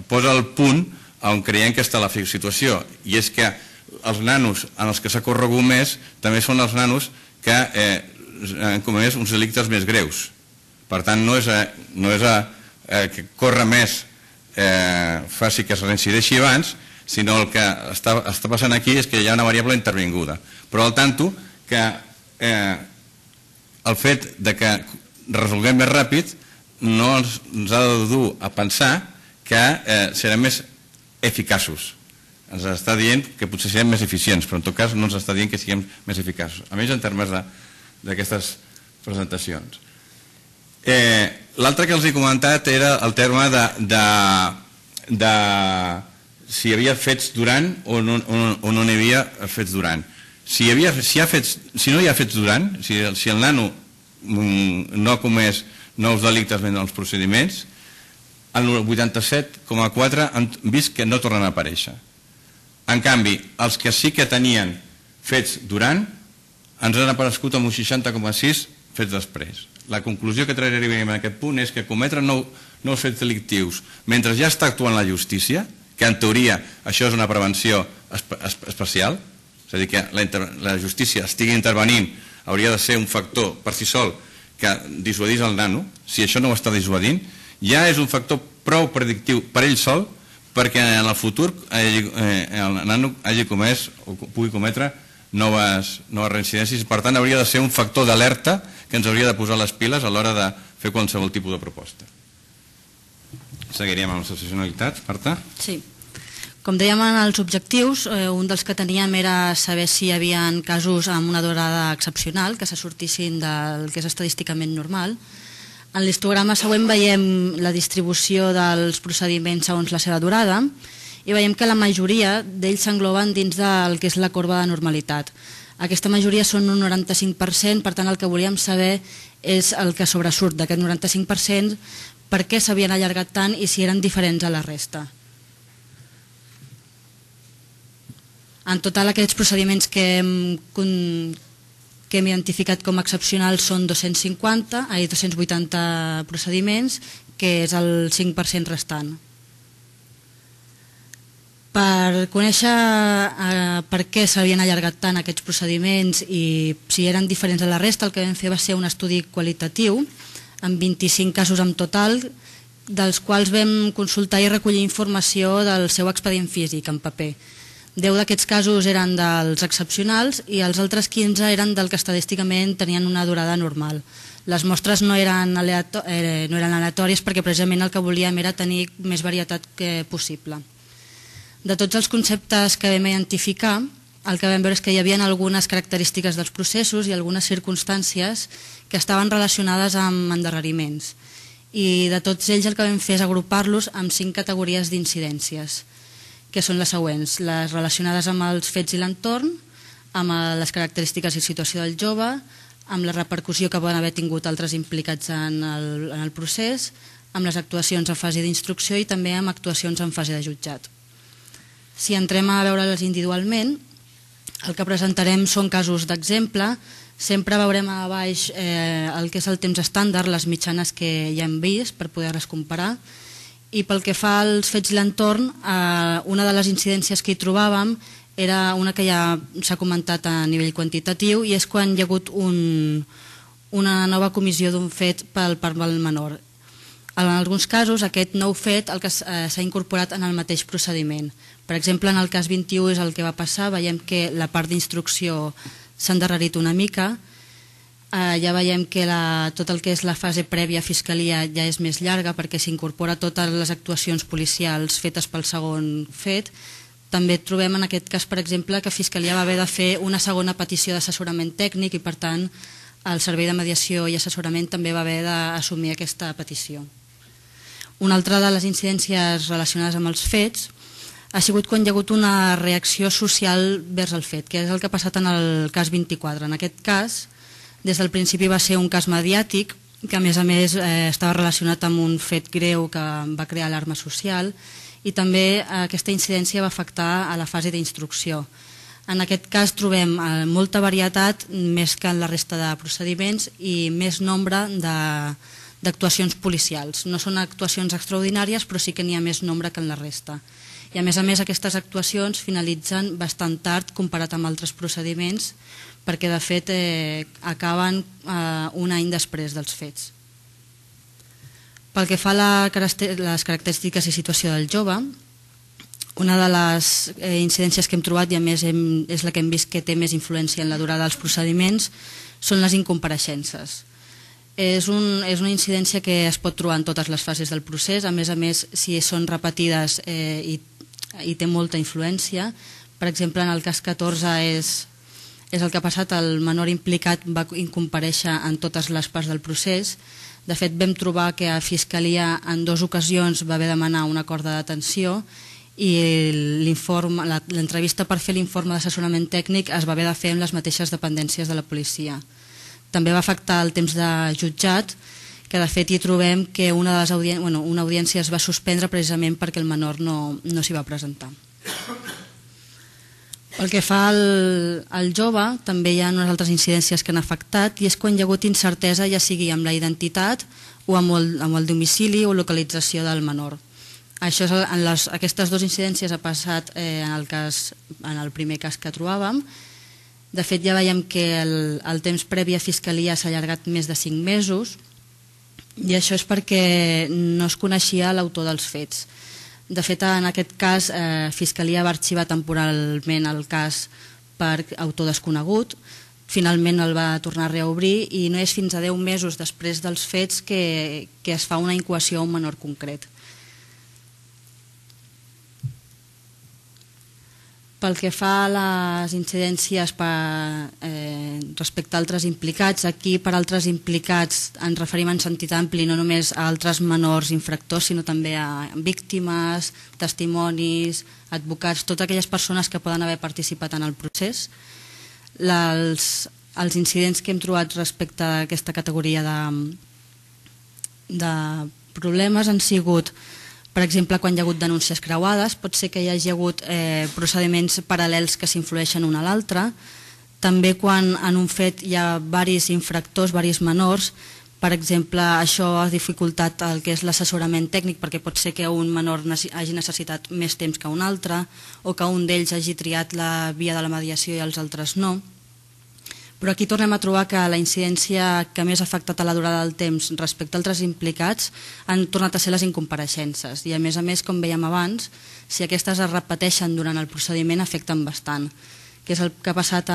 posa el punt on creiem que està la situació, i és que els nanos en els que s'ha corregut més també són els nanos que han comès uns delictes més greus. Per tant, no és que córrer més faci que es reincideixi abans, sinó el que està passant aquí és que hi ha una variable intervinguda. Però al tanto que el fet que resolguem més ràpid no ens ha de dur a pensar que serem més eficaços. Ens està dient que potser serem més eficients, però en tot cas no ens està dient que siguem més eficaços, a més en termes d'aquestes presentacions. L'altre que els he comentat era el terme de si hi havia fets durant o no n'hi havia fets durant. Si no hi ha fets durant, si el nano no ha comès nous delictes en els procediments, el 87,4% han vist que no tornen a aparèixer. En canvi, els que sí que tenien fets durant ens han aparegut amb un 60,6% fets després. La conclusió que trairíem en aquest punt és que cometre nous fets delictius mentre ja està actuant la justícia, que en teoria això és una prevenció especial, és a dir, que la justícia estigui intervenint hauria de ser un factor per si sol que dissuadís el nano. Si això no ho està dissuadint, ja és un factor prou predictiu per ell sol perquè en el futur el nano hagi comès o pugui cometre noves reincidències. Per tant, hauria de ser un factor d'alerta que ens hauria de posar les piles a l'hora de fer qualsevol tipus de proposta. Seguiríem amb l'excepcionalitat, Marta? Sí. Com dèiem en els objectius, un dels que teníem era saber si hi havia casos amb una durada excepcional, que se sortissin del que és estadísticament normal. En l'histograma següent veiem la distribució dels procediments segons la seva durada i veiem que la majoria d'ells s'engloben dins del que és la corba de normalitat. Aquesta majoria són un 95%, per tant el que volíem saber és el que sobresurt d'aquest 95%, per què s'havien allargat tant i si eren diferents a la resta. En total, aquests procediments que hem identificat com excepcionals són 280 procediments, que és el 5% restant. Per conèixer per què s'havien allargat tant aquests procediments i si eren diferents a la resta, el que vam fer va ser un estudi qualitatiu amb 25 casos en total, dels quals vam consultar i recollir informació del seu expedient físic en paper. 10 d'aquests casos eren dels excepcionals i els altres 15 eren del que estadísticament tenien una durada normal. Les mostres no eren aleatòries perquè precisament el que volíem era tenir més varietat possible. De tots els conceptes que vam identificar, el que vam veure és que hi havia algunes característiques dels processos i algunes circumstàncies que estaven relacionades amb endarreriments. I de tots ells el que vam fer és agrupar-los en 5 categories d'incidències, que són les següents: les relacionades amb els fets i l'entorn, amb les característiques i situació del jove, amb la repercussió que poden haver tingut altres implicats en el procés, amb les actuacions en fase d'instrucció i també amb actuacions en fase de jutjat. Si entrem a veure-les individualment, el que presentarem són casos d'exemple. Sempre veurem a baix el que és el temps estàndard, les mitjanes que ja hem vist per poder-les comparar. I pel que fa als fets i l'entorn, una de les incidències que hi trobàvem era una que ja s'ha comentat a nivell quantitatiu i és quan hi ha hagut una nova comissió d'un fet pel part del menor. En alguns casos aquest nou fet s'ha incorporat en el mateix procediment. Per exemple, en el cas 21 és el que va passar, veiem que la part d'instrucció s'ha endarrerit una mica, ja veiem que tot el que és la fase prèvia a Fiscalia ja és més llarga perquè s'incorpora totes les actuacions policials fetes pel segon fet. També trobem en aquest cas, per exemple, que Fiscalia va haver de fer una segona petició d'assessorament tècnic i, per tant, el Servei de Mediació i Assessorament també va haver d'assumir aquesta petició. Una altra de les incidències relacionades amb els fets ha sigut quan hi ha hagut una reacció social vers el fet, que és el que ha passat en el cas 24. En aquest cas, des del principi va ser un cas mediàtic, que a més estava relacionat amb un fet greu que va crear alarma social, i també aquesta incidència va afectar a la fase d'instrucció. En aquest cas trobem molta varietat, més que en la resta de procediments, i més nombre d'actuacions policials. No són actuacions extraordinàries, però sí que n'hi ha més nombre que en la resta. I a més, aquestes actuacions finalitzen bastant tard comparat amb altres procediments, perquè de fet acaben un any després dels fets. Pel que fa a les característiques i situació del jove, una de les incidències que hem trobat, i a més és la que hem vist que té més influència en la durada dels procediments, són les incompareixences. És una incidència que es pot trobar en totes les fases del procés, a més, si són repetides i té molta influència. Per exemple, en el cas 14 és el que ha passat, el menor implicat va incomparèixer en totes les parts del procés. De fet, vam trobar que a Fiscalia en 2 ocasions va haver de demanar un acord de detenció i l'entrevista per fer l'informe d'assessorament tècnic es va haver de fer amb les mateixes dependències de la policia. També va afectar el temps de jutjat, que de fet hi trobem que una audiència es va suspendre precisament perquè el menor no s'hi va presentar. Pel que fa al jove, també hi ha unes altres incidències que han afectat, i és quan hi ha hagut incertesa, ja sigui amb la identitat o amb el domicili o localització del menor. Aquestes 2 incidències ha passat en el primer cas que trobàvem. De fet, ja veiem que el temps previ a Fiscalia s'ha allargat més de 5 mesos, i això és perquè no es coneixia l'autor dels fets. De fet, en aquest cas, Fiscalia va arxivar temporalment el cas per autor desconegut, finalment el va tornar a reobrir i no és fins a 10 mesos després dels fets que es fa una incoació a un menor concret. Pel que fa a les incidències respecte a altres implicats, aquí per altres implicats ens referim en sentit ampli no només a altres menors infractors, sinó també a víctimes, testimonis, advocats, totes aquelles persones que poden haver participat en el procés. Els incidents que hem trobat respecte a aquesta categoria de problemes han sigut, per exemple, quan hi ha hagut denúncies creuades, pot ser que hi hagi hagut procediments paral·lels que s'influeixen un a l'altre. També quan en un fet hi ha diversos infractors, diversos menors, per exemple, això ha dificultat el que és l'assessorament tècnic, perquè pot ser que un menor hagi necessitat més temps que un altre, o que un d'ells hagi triat la via de la mediació i els altres no. Però aquí tornem a trobar que la incidència que més ha afectat a la durada del temps respecte a altres implicats han tornat a ser les incompareixences i a més, com veiem abans, si aquestes es repeteixen durant el procediment afecten bastant, que és el que ha passat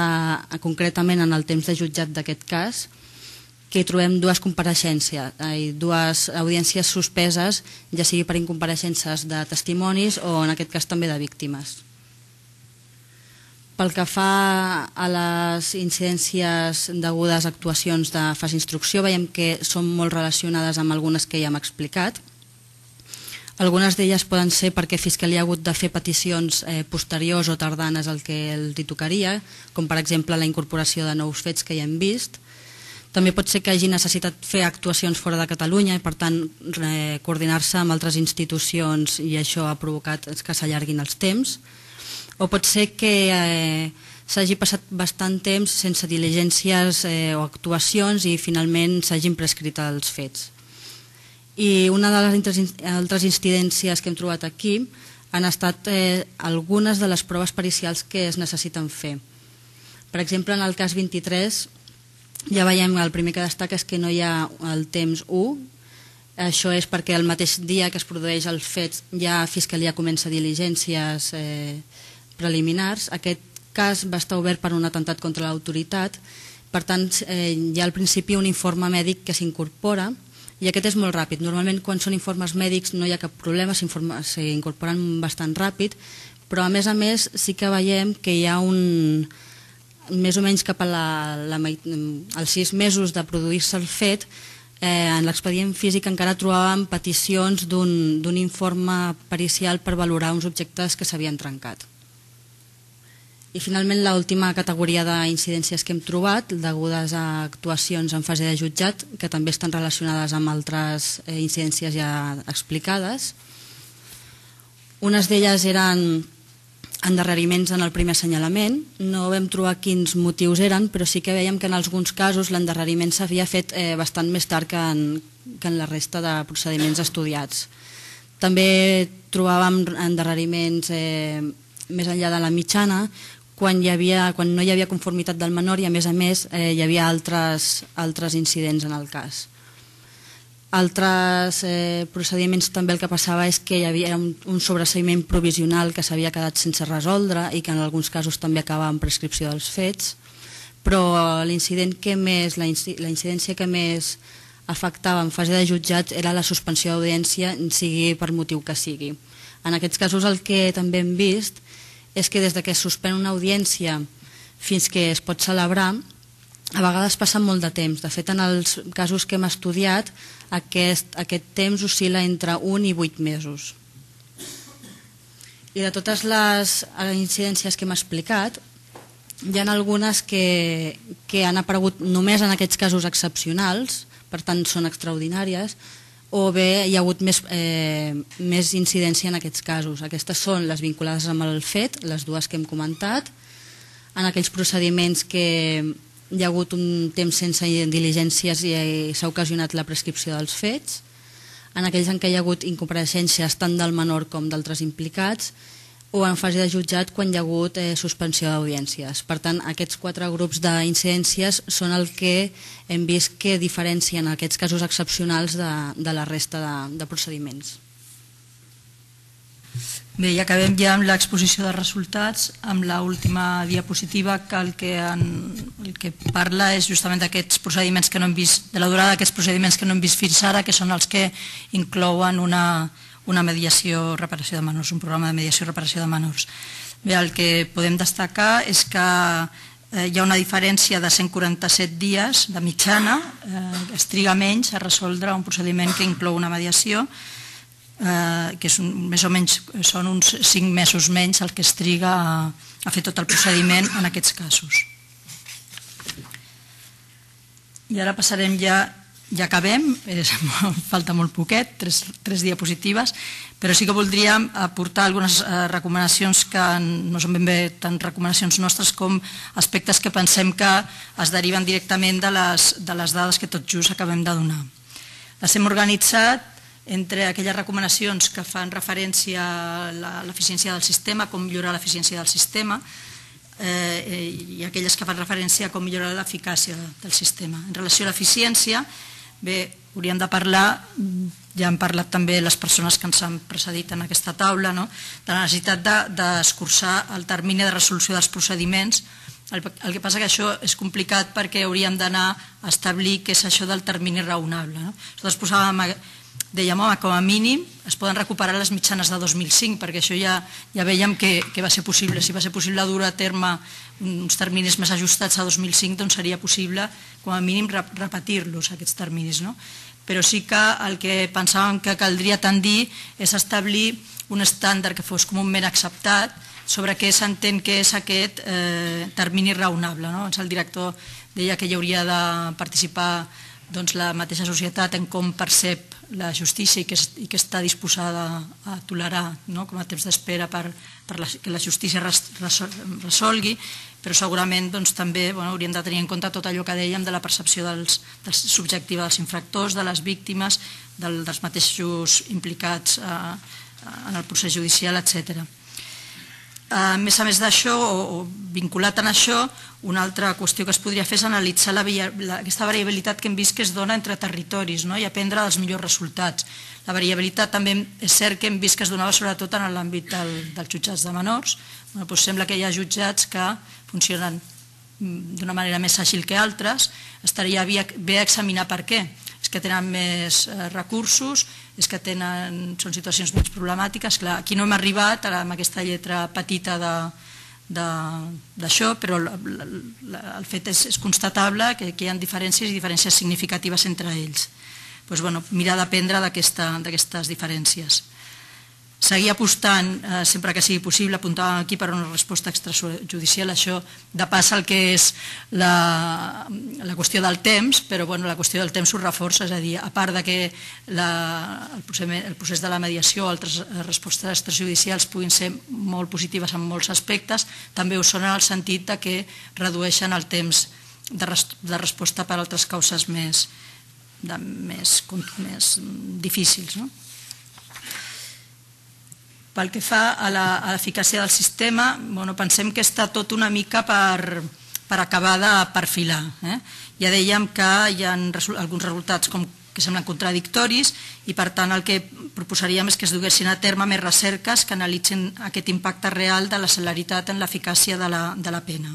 concretament en el temps de jutjat d'aquest cas, que hi trobem dues compareixences, dues audiències suspeses, ja sigui per incompareixences de testimonis o en aquest cas també de víctimes. Pel que fa a les incidències degudes a actuacions de fase instrucció, veiem que són molt relacionades amb algunes que ja hem explicat. Algunes d'elles poden ser perquè Fiscalia ha hagut de fer peticions posteriors o tardanes al que els hi tocaria, com per exemple la incorporació de nous fets que ja hem vist. També pot ser que hagi necessitat fer actuacions fora de Catalunya i per tant coordinar-se amb altres institucions i això ha provocat que s'allarguin els temps. O pot ser que s'hagi passat bastant temps sense diligències o actuacions i finalment s'hagin prescrit els fets. I una de les altres incidències que hem trobat aquí han estat algunes de les proves pericials que es necessiten fer. Per exemple, en el cas 23 ja veiem el primer que destaca és que no hi ha el temps 1. Això és perquè el mateix dia que es produeix el fet ja Fiscalia comença diligències preliminars. Aquest cas va estar obert per un atemptat contra l'autoritat, per tant hi ha al principi un informe mèdic que s'incorpora i aquest és molt ràpid. Normalment quan són informes mèdics no hi ha cap problema, s'incorporen bastant ràpid, però a més sí que veiem que hi ha més o menys cap als 6 mesos de produir-se el fet, en l'expedient físic encara trobàvem peticions d'un informe pericial per valorar uns objectes que s'havien trencat. I finalment l'última categoria d'incidències que hem trobat, degudes a actuacions en fase de jutjat, que també estan relacionades amb altres incidències ja explicades. Unes d'elles eren endarreriments en el primer assenyalament. No vam trobar quins motius eren, però sí que veiem que en alguns casos l'endarreriment s'havia fet bastant més tard que en la resta de procediments estudiats. També trobàvem endarreriments més enllà de la mitjana, quan no hi havia conformitat del menor i a més hi havia altres incidents en el cas. Altres procediments també el que passava és que hi havia un sobreseïment provisional que s'havia quedat sense resoldre i que en alguns casos també acabava amb prescripció dels fets, però la incidència que més afectava en fase de jutjat era la suspensió d'audiència, sigui per motiu que sigui. En aquests casos el que també hem vist és que des que es suspèn una audiència fins que es pot celebrar, a vegades passa molt de temps. De fet, en els casos que hem estudiat, aquest temps oscil·la entre 1 i 8 mesos. I de totes les incidències que hem explicat, hi ha algunes que han aparegut només en aquests casos excepcionals, per tant són extraordinàries, o bé hi ha hagut més incidència en aquests casos. Aquestes són les vinculades amb el fet, les dues que hem comentat, en aquells procediments que hi ha hagut un temps sense diligències i s'ha ocasionat la prescripció dels fets, en aquells en què hi ha hagut incompareixences tant del menor com d'altres implicats, o en fase de jutjat quan hi ha hagut suspensió d'audiències. Per tant, aquests 4 grups d'incidències són el que hem vist que diferencien aquests casos excepcionals de la resta de procediments. Bé, i acabem ja amb l'exposició de resultats, amb l'última diapositiva que el que parla és justament d'aquests procediments que no hem vist, de la durada d'aquests procediments que no hem vist fins ara, que són els que inclouen una mediació reparació de menors, un programa de mediació reparació de menors. Bé, el que podem destacar és que hi ha una diferència de 147 dies de mitjana, es triga menys a resoldre un procediment que inclou una mediació, que més o menys són uns 5 mesos menys el que es triga a fer tot el procediment en aquests casos. I ara passarem ja acabem, falta molt poquet, 3 diapositives, però sí que voldríem aportar algunes recomanacions que no són ben bé tant recomanacions nostres com aspectes que pensem que es deriven directament de les dades que tot just acabem de donar. Les hem organitzat entre aquelles recomanacions que fan referència a l'eficiència del sistema, com millorar l'eficiència del sistema, i aquelles que fan referència a com millorar l'eficàcia del sistema. En relació a l'eficiència, bé, hauríem de parlar, ja han parlat també les persones que ens han precedit en aquesta taula, de la necessitat d'escurçar el termini de resolució dels procediments. El que passa que això és complicat perquè hauríem d'anar a establir què és això del termini raonable. Nosaltres posàvem, dèiem, home, com a mínim es poden recuperar les mitjanes de 2005, perquè això ja veiem que va ser possible. Si va ser possible dur a terme uns terminis més ajustats a 2005, doncs seria possible, com a mínim, repetir-los, aquests terminis. Però sí que el que pensàvem que caldria tendir és establir un estàndard que fos comúment acceptat sobre què s'entén que és aquest termini raonable. El director deia que hi hauria de participar la mateixa societat en com percep la justícia i que està disposada a tolerar com a temps d'espera que la justícia resolgui, però segurament també hauríem de tenir en compte tot allò que dèiem de la percepció subjectiva dels infractors, de les víctimes, dels mateixos implicats en el procés judicial, etc. A més d'això, o vinculat en això, una altra qüestió que es podria fer és analitzar aquesta variabilitat que hem vist que es dona entre territoris i aprendre dels millors resultats. La variabilitat també és cert que hem vist que es donava sobretot en l'àmbit dels jutjats de menors. Sembla que hi ha jutjats que funcionen d'una manera més àgil que altres. Estaria bé examinar per què. És que tenen més recursos, és que són situacions menys problemàtiques. Clar, aquí no hem arribat amb aquesta lletra petita d'això, però el fet és constatable que hi ha diferències i diferències significatives entre ells. Mirar d'aprendre d'aquestes diferències. Seguir apostant, sempre que sigui possible, apuntàvem aquí per una resposta extrajudicial, això de pas el que és la qüestió del temps, però la qüestió del temps ho reforça, és a dir, a part que el procés de la mediació o altres respostes extrajudicials puguin ser molt positives en molts aspectes, també ho són en el sentit que redueixen el temps de resposta per altres causes més difícils. Pel que fa a l'eficàcia del sistema, pensem que està tot una mica per acabar de perfilar. Ja dèiem que hi ha alguns resultats que semblen contradictoris i, per tant, el que proposaríem és que es duguessin a terme més recerques que analitzin aquest impacte real de la celeritat en l'eficàcia de la pena.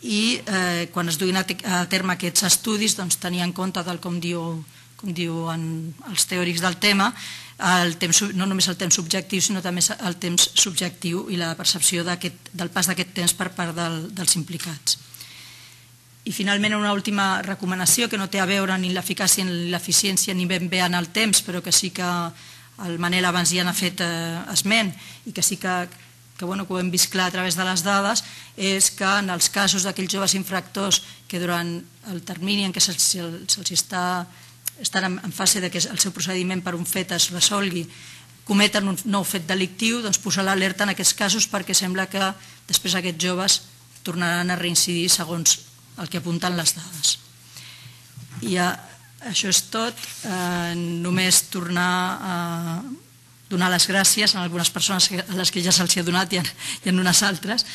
I quan es duguin a terme aquests estudis, tenir en compte, tal com diuen els teòrics del tema, no només el temps objectiu, sinó també el temps subjectiu i la percepció del pas d'aquest temps per part dels implicats. I finalment una última recomanació que no té a veure ni l'eficàcia ni l'eficiència ni ben bé en el temps, però que sí que el Manel abans ja n'ha fet esment i que sí que ho hem vist clar a través de les dades, és que en els casos d'aquells joves infractors que durant el termini en què se'ls estan en fase que el seu procediment per un fet es resolgui, cometen un nou fet delictiu, doncs posar l'alerta en aquests casos perquè sembla que després aquests joves tornaran a reincidir segons el que apunten les dades. I això és tot. Només tornar a donar les gràcies a algunes persones a les que ja se'ls ha donat i en unes altres.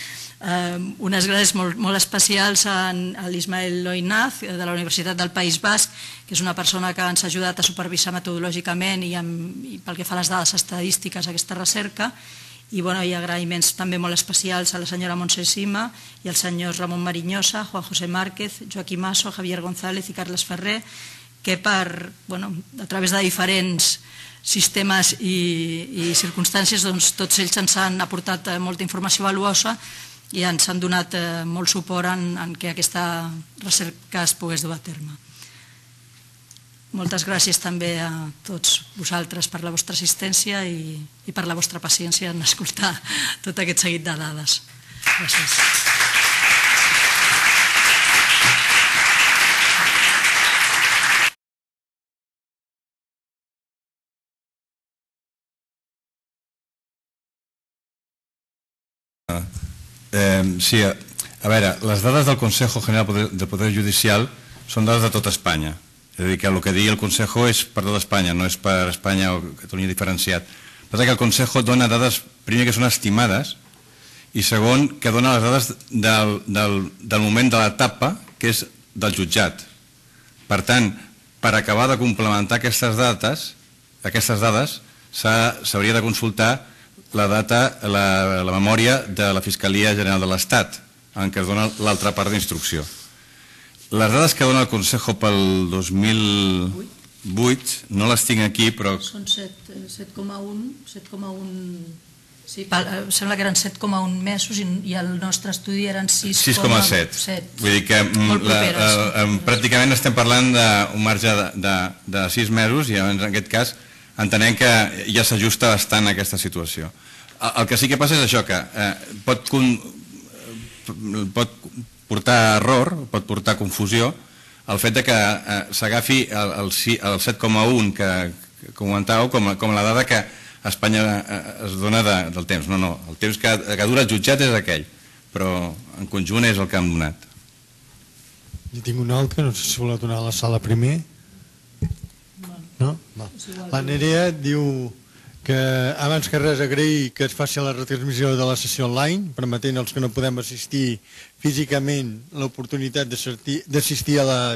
Unes gràcies molt especials a l'Ismael Loinaz de la Universitat del País Basc, que és una persona que ens ha ajudat a supervisar metodològicament i pel que fa a les dades estadístiques aquesta recerca, i agraïments també molt especials a la senyora Montse Sima i als senyors Ramon Mariñosa, Juan José Márquez, Joaquim Masso, Javier González i Carles Ferrer, que a través de diferents sistemes i circumstàncies tots ells ens han aportat molta informació valuosa i ens han donat molt suport en què aquesta recerca es pogués dur a terme. Moltes gràcies també a tots vosaltres per la vostra assistència i per la vostra paciència en escoltar tot aquest seguit de dades. Gràcies. Sí, a veure, les dades del Consejo General del Poder Judicial són dades de tota Espanya. És a dir, que el que digui el Consejo és per tota Espanya, no és per Espanya o Catalunya diferenciat. Passa que el Consejo dona dades, primer, que són estimades i segon, que dona les dades del moment de l'etapa, que és del jutjat. Per tant, per acabar de complementar aquestes dades, s'hauria de consultar la memòria de la Fiscalia General de l'Estat, en què es dona l'altra part d'instrucció. Les dades que dona el Consejo pel 2008 no les tinc aquí, però... Són 7,1... Sí, sembla que eren 7,1 mesos i el nostre estudi eren 6,7. Vull dir que pràcticament estem parlant d'un marge de 6 mesos i en aquest cas entenem que ja s'ajusta bastant a aquesta situació. El que sí que passa és això, que pot portar error, pot portar confusió el fet que s'agafi el 7,1 que comentàveu com la dada que a Espanya es dona del temps. No, el temps que dura el jutjat és aquell, però en conjunt és el que hem donat. Jo tinc un altre, no sé si voleu donar a la sala primer. No? La Nerea diu que abans que res agrair que es faci la retransmissió de la sessió online, permetent als que no podem assistir físicament l'oportunitat d'assistir a la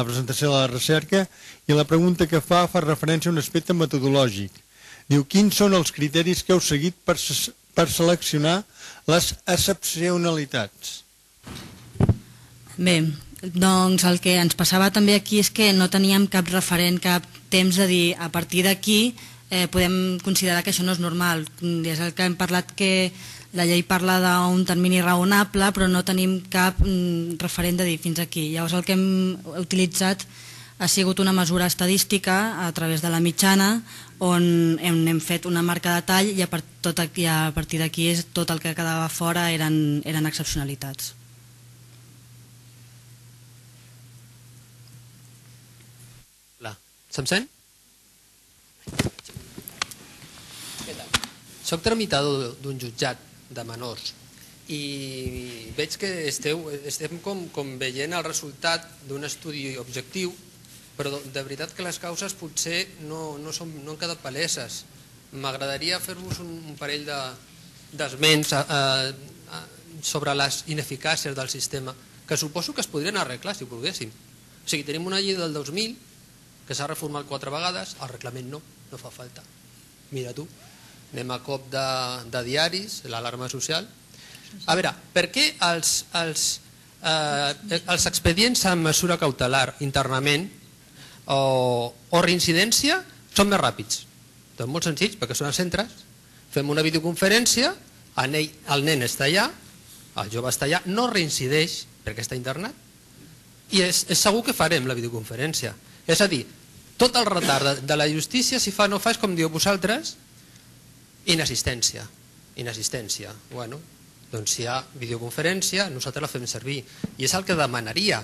presentació de la recerca, i la pregunta que fa referència a un aspecte metodològic. Diu, quins són els criteris que heu seguit per seleccionar les excepcionalitats? Bé, doncs el que ens passava també aquí és que no teníem cap referent, cap temps de dir a partir d'aquí podem considerar que això no és normal. És el que hem parlat, que la llei parla d'un termini raonable, però no tenim cap referent de dir fins aquí. Llavors el que hem utilitzat ha sigut una mesura estadística a través de la mitjana, on hem fet una marca de tall i a partir d'aquí tot el que quedava fora eren excepcionalitats. Se'm sent? Soc tramitador d'un jutjat de menors i veig que estem com veient el resultat d'un estudi objectiu, però de veritat que les causes potser no han quedat paleses. M'agradaria fer-vos un parell d'esments sobre les ineficàcies del sistema, que suposo que es podrien arreglar si volguéssim. O sigui, tenim una llei del 2000 que s'ha reformat 4 vegades, el reglament no fa falta. Mira tu, anem a cop de diaris, l'alarma social. A veure, per què els expedients amb mesura cautelar internament o reincidència són més ràpids? Doncs molt senzills, perquè són als centres, fem una videoconferència, el nen està allà, el jove està allà, no reincideix perquè està internat, i és segur que farem la videoconferència. És a dir, tot el retard de la justícia, si fa o no fa, és com diu vosaltres, inassistència. Bueno, doncs si hi ha videoconferència, nosaltres la fem servir. I és el que demanaria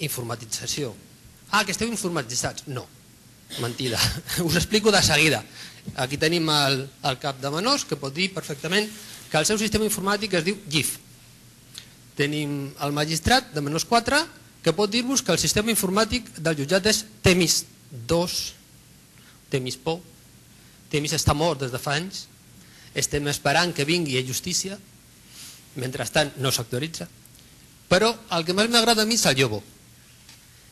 informatització. Que esteu informatitzats. No, mentida. Us explico de seguida. Aquí tenim el cap de menors, que pot dir perfectament que el seu sistema informàtic es diu GIF. Tenim el magistrat de menors 4, que pot dir-vos que el sistema informàtic del jutjat és Temis 2, Temis por, Temis està mort des de fa anys, estem esperant que vingui a justícia, mentrestant no s'actualitza. Però el que més m'agrada a mi és el Yobo,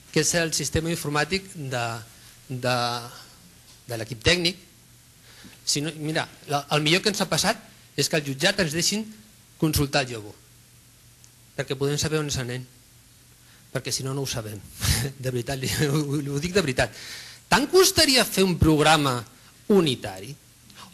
que és el sistema informàtic de l'equip tècnic. Mira, el millor que ens ha passat és que al jutjat ens deixin consultar el Yobo, perquè podem saber on és el nen, perquè si no, no ho sabem. De veritat, ho dic de veritat. Tant costaria fer un programa unitari?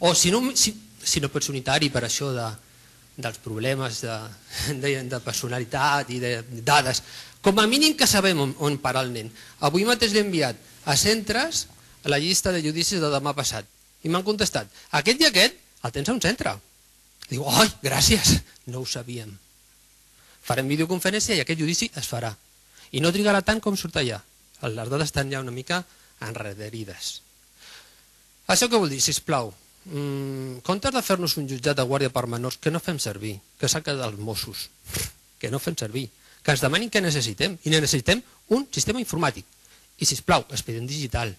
O si no pot ser unitari per això dels problemes de personalitat i de dades, com a mínim que sabem on parar el nen. Avui mateix l'he enviat a centres a la llista de judicis de demà passat i m'han contestat, aquest i aquest el tens a un centre. Diu, oi, gràcies, no ho sabíem. Farem videoconferència i aquest judici es farà. I no trigarà tant com surt allà. Les dades estan ja una mica enrederides. Això què vol dir, sisplau? En comptes de fer-nos un jutjat de guàrdia per menors, que no fem servir, que s'ha quedat els Mossos, que no fem servir, que ens demanin què necessitem, i necessitem un sistema informàtic. I sisplau, expedient digital.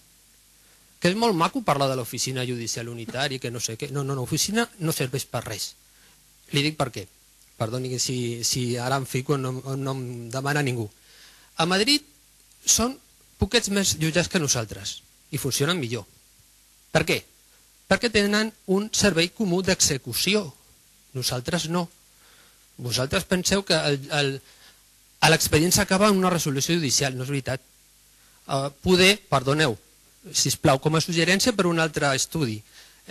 Que és molt maco parlar de l'oficina judicial unitària, que no sé què. No, l'oficina no serveix per res. Li dic per què. Perdoni si ara em fico on no em demana ningú. A Madrid són poquets més jutjats que nosaltres i funcionen millor. Per què? Perquè tenen un servei comú d'execució. Nosaltres no. Vosaltres penseu que l'expedient s'acaba en una resolució judicial, no és veritat. Perdoneu, sisplau, com a suggerència per un altre estudi.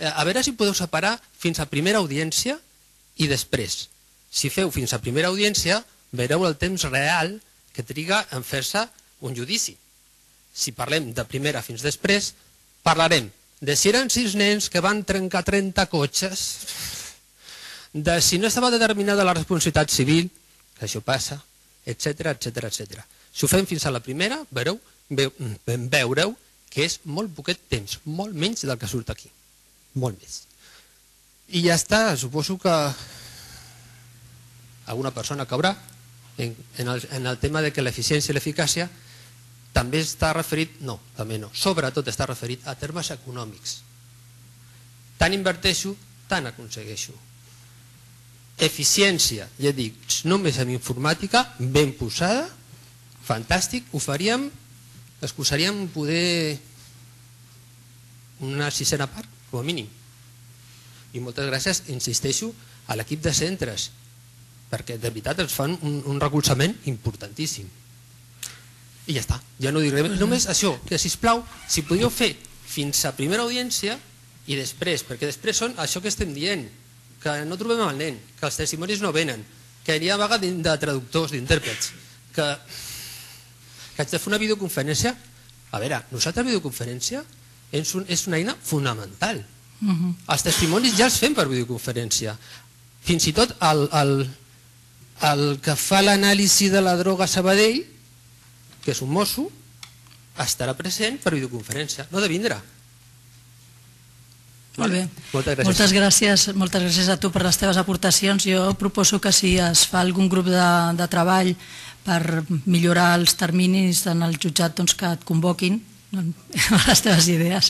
A veure si podeu separar fins a primera audiència i després. Si feu fins a primera audiència, veureu el temps real que triga en fer-se un judici. Si parlem de primera fins després, parlarem de si eren 6 nens que van trencar 30 cotxes, de si no estava determinada la responsabilitat civil, que això passa, etc. Si ho fem fins a la primera, veureu que és molt poquet temps, molt menys del que surt aquí. Molt més. I ja està, suposo que alguna persona caurà en el tema de que l'eficiència i l'eficàcia també està referit, no, també no, sobretot està referit a termes econòmics. Tant inverteixo, tant aconsegueixo. Eficiència, ja dic, només en informàtica, ben posada, fantàstic, ho faríem, excusaríem poder una 6a part, com a mínim. I moltes gràcies, insisteixo, a l'equip de centres, perquè de veritat ens fan un recolzament importantíssim. I ja està, ja no diré només això, que sisplau, si podríeu fer fins a primera audiència i després, perquè després són això que estem dient, que no trobem el nen, que els testimonis no venen, que hi ha vaga de traductors, d'intèrprets, que haig de fer una videoconferència. A veure, nosaltres videoconferència és una eina fonamental. Els testimonis ja els fem per videoconferència. Fins i tot el que fa l'anàlisi de la droga a Sabadell, que és un mosso, estarà present per videoconferència, no de vindre. Molt bé. Moltes gràcies. Moltes gràcies a tu per les teves aportacions. Jo proposo que si es fa algun grup de treball per millorar els terminis en el jutjat, doncs que et convoquin les teves idees,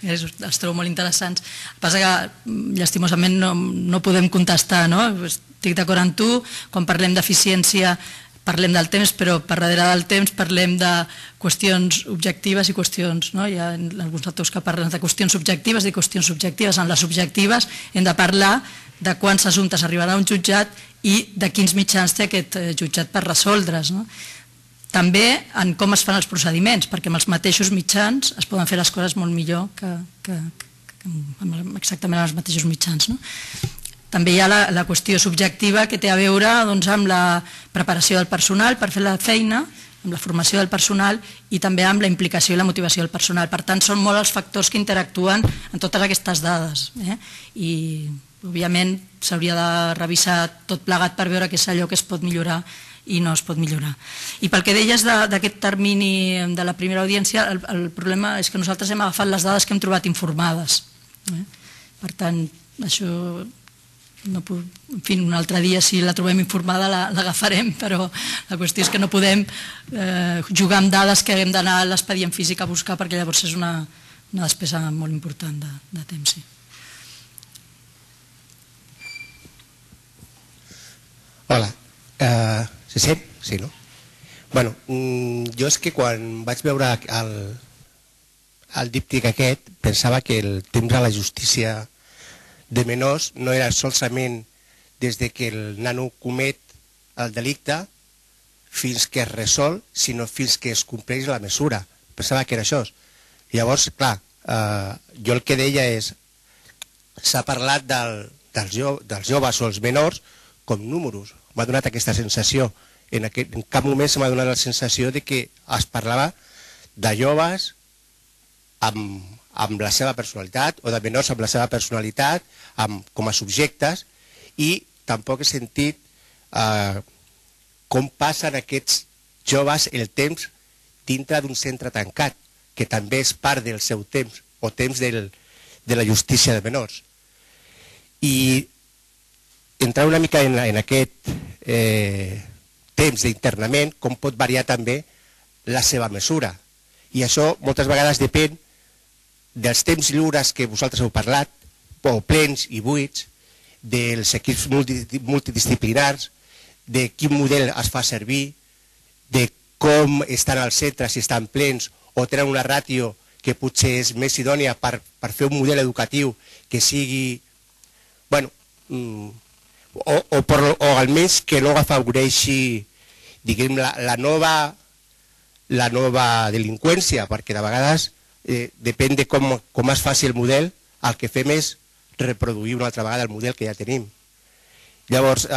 les trobo molt interessants. El que passa que llastimosament no podem contestar, no? Estic d'acord amb tu, quan parlem d'eficiència parlem del temps, però per darrere del temps parlem de qüestions objectives i qüestions, no? Hi ha alguns autors que parlen de qüestions objectives i qüestions subjectives. En les objectives hem de parlar de quants assumptes arribaran a un jutjat i de quins mitjans té aquest jutjat per resoldre's, no? També en com es fan els procediments, perquè amb els mateixos mitjans es poden fer les coses molt millor que exactament amb els mateixos mitjans, no? També hi ha la qüestió subjectiva que té a veure amb la preparació del personal per fer la feina, amb la formació del personal i també amb la implicació i la motivació del personal. Per tant, són molt els factors que interactuen en totes aquestes dades. I, òbviament, s'hauria de revisar tot plegat per veure què és allò que es pot millorar i no es pot millorar. I pel que deies d'aquest termini de la primera audiència, el problema és que nosaltres hem agafat les dades que hem trobat informades. Per tant, això... En fi, un altre dia si la trobem informada l'agafarem, però la qüestió és que no podem jugar amb dades que haguem d'anar a l'expedient físic a buscar, perquè llavors és una despesa molt important de temps. Hola, se sent? Sí, no? Bueno, jo és que quan vaig veure el díptic aquest pensava que el temps a la justícia de menors no era solament des que el nano comet el delicte fins que es resol, sinó fins que es compleix la mesura. Pensava que era això. Llavors, clar, jo el que deia és, s'ha parlat dels joves o els menors com números. M'ha donat aquesta sensació. En cap moment se m'ha donat la sensació de que es parlava de joves amb la seva personalitat o de menors amb la seva personalitat com a subjectes, i tampoc he sentit com passen aquests joves el temps dintre d'un centre tancat, que també és part del seu temps o temps de la justícia de menors. I entrar una mica en aquest temps d'internament, com pot variar també la seva mesura. I això moltes vegades depèn dels temps lliures que vosaltres heu parlat, o plens i buits, dels equips multidisciplinars, de quin model es fa servir, de com estan als centres, si estan plens o tenen una ràtio que potser és més idònia per fer un model educatiu que sigui, bueno, o almenys que no afavoreixi, diguem, la nova delinqüència, perquè de vegades depèn de com es faci el model, el que fem és reproduir una altra vegada el model que ja tenim. Llavors,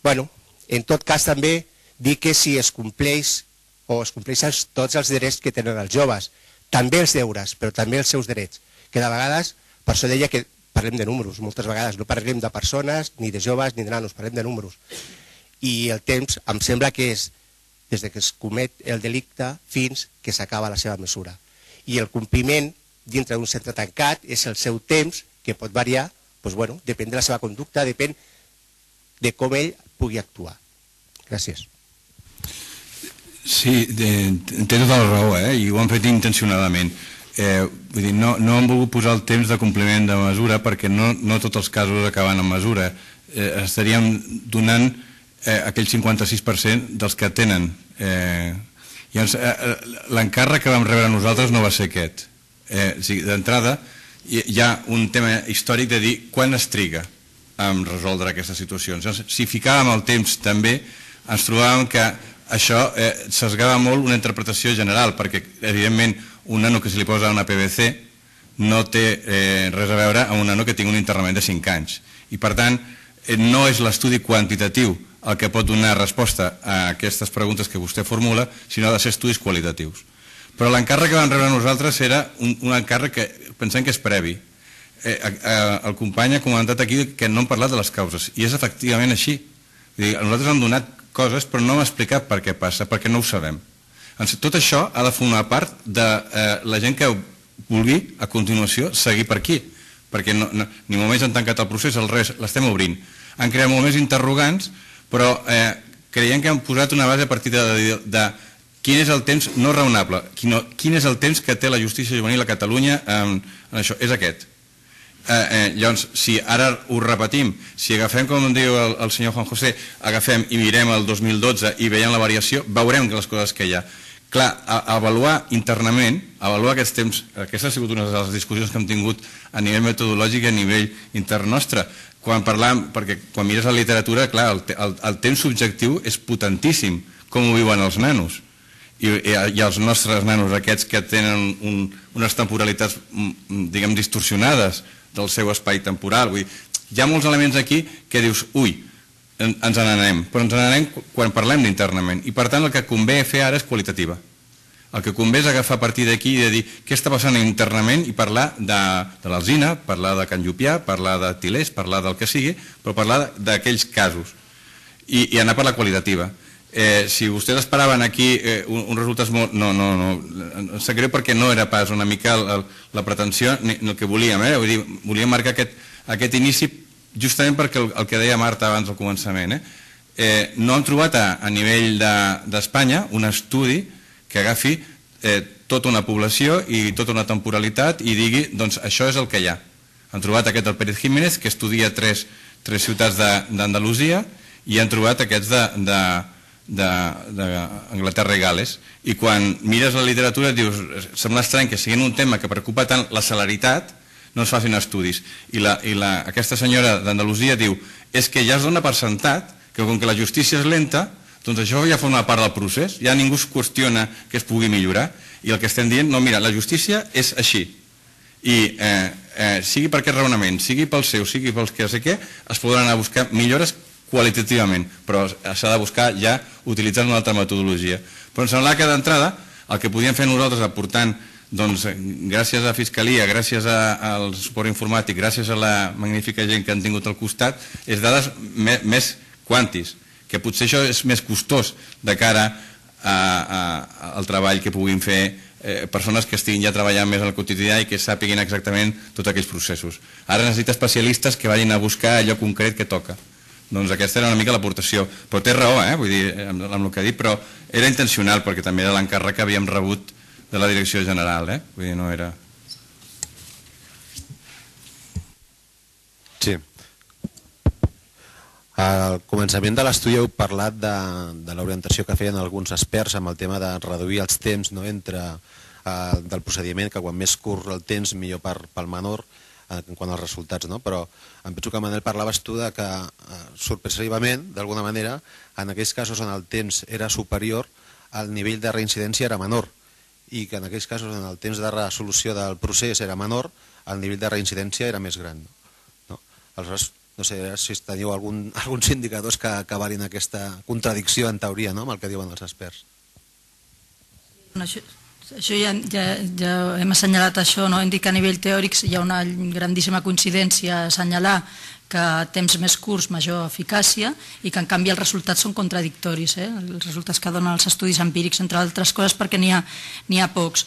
bueno, en tot cas també dir que si es compleix o es compleixen tots els drets que tenen els joves, també els deures, però també els seus drets, que de vegades, per això deia que parlem de números, moltes vegades no parlem de persones, ni de joves, ni de nanos, parlem de números. I el temps em sembla que és des que es comet el delicte fins que s'acaba la seva mesura. I el compliment dintre d'un centre tancat és el seu temps, que pot variar, doncs, bueno, depèn de la seva conducta, depèn de com ell pugui actuar. Gràcies. Sí, té tota la raó, i ho han fet intencionadament. Vull dir, no han volgut posar el temps de compliment de mesura perquè no tots els casos acaben en mesura. Estaríem donant aquell 56% dels que tenen. L'encàrrec que vam rebre nosaltres no va ser aquest. D'entrada, hi ha un tema històric de dir quan es triga a resoldre aquestes situacions. Si ficàvem el temps també, ens trobàvem que això s'esgava molt una interpretació general, perquè evidentment un nano que se li posa una PVC no té res a veure amb un nano que tingui un internament de 5 anys. I per tant, no és l'estudi quantitatiu el que pot donar resposta a aquestes preguntes que vostè formula, sinó de ser estudis qualitatius. Però l'encàrrec que vam rebre nosaltres era un encàrrec que pensem que és previ. El company ha comentat aquí que no hem parlat de les causes, i és efectivament així. Nosaltres hem donat coses, però no hem explicat per què passa, perquè no ho sabem. Tot això ha de formar part de la gent que vulgui, a continuació, seguir per aquí, perquè ni molt menys han tancat el procés, el res l'estem obrint. Han creat molt més interrogants, però creiem que han posat una base a partir de quin és el temps no raonable, quin és el temps que té la justícia juvenil a Catalunya en això, és aquest. Llavors, si ara ho repetim, si agafem, com diu el senyor Juan José, agafem i mirem el 2012 i veiem la variació, veurem que les coses que hi ha. Clar, avaluar internament, avaluar aquests temps, aquesta ha sigut una de les discussions que hem tingut a nivell metodològic i a nivell intern nostre. Quan parlam, perquè quan mires la literatura, clar, el temps subjectiu és potentíssim, com ho viuen els nanos. I els nostres nanos, aquests que tenen unes temporalitats, diguem, distorsionades del seu espai temporal. Vull dir, hi ha molts elements aquí que dius, ui, ens n'anem, però ens n'anem quan parlem d'internament. I per tant el que convé fer ara és qualitativa. El que convé és agafar a partir d'aquí i de dir què està passant internament i parlar de l'Alzina, parlar de Can Llupià, parlar de Tilers, parlar del que sigui, però parlar d'aquells casos i anar per la qualitativa. Si vostès esperaven aquí uns resultats molt... No, em sap greu perquè no era pas una mica la pretensió ni el que volíem. Vull dir, volíem marcar aquest inici justament perquè el que deia Marta abans al començament. No hem trobat a nivell d'Espanya un estudi que agafi tota una població i tota una temporalitat i digui, doncs això és el que hi ha. Han trobat aquest del Pérez Jiménez, que estudia tres ciutats d'Andalusia, i han trobat aquests d'Anglaterra i Gales. I quan mires la literatura dius, sembla estrany que siguin un tema que preocupa tant la celeritat, no es facin estudis. I aquesta senyora d'Andalusia diu, és que ja es dona per sentat que com que la justícia és lenta, doncs això ja forma part del procés, ja ningú es qüestiona que es pugui millorar, i el que estem dient, no, mira, la justícia és així, i sigui per aquest raonament, sigui pel seu, sigui pels que sé què, es podran anar a buscar millores qualitativament, però s'ha de buscar ja utilitzant una altra metodologia. Però em sembla que d'entrada el que podíem fer nosaltres aportant, doncs, gràcies a Fiscalia, gràcies al suport informàtic, gràcies a la magnífica gent que han tingut al costat, és dades més quantis, que potser això és més costós de cara al treball que puguin fer persones que estiguin ja treballant més al quotidià i que sàpiguin exactament tots aquells processos. Ara necessita especialistes que vagin a buscar allò concret que toca. Doncs aquesta era una mica l'aportació. Però té raó, vull dir, amb el que ha dit, però era intencional, perquè també era l'encàrrec que havíem rebut de la Direcció General, vull dir, no era... Sí. Al començament de l'estudi heu parlat de l'orientació que feien alguns experts amb el tema de reduir els temps del procediment, que quan més curt el temps millor pel menor en quant als resultats, però em penso que Manel parlaves tu que sorpresivament, d'alguna manera, en aquells casos on el temps era superior, el nivell de reincidència era menor, i que en aquells casos on el temps de resolució del procés era menor, el nivell de reincidència era més gran. Aleshores, no sé si teniu alguns indicadors que valin aquesta contradicció en teoria amb el que diuen els experts. Això ja hem assenyalat això, hem dit que a nivell teòric hi ha una grandíssima coincidència a assenyalar que a temps més curts major eficàcia i que en canvi els resultats són contradictoris, els resultats que donen els estudis empírics, entre altres coses perquè n'hi ha pocs.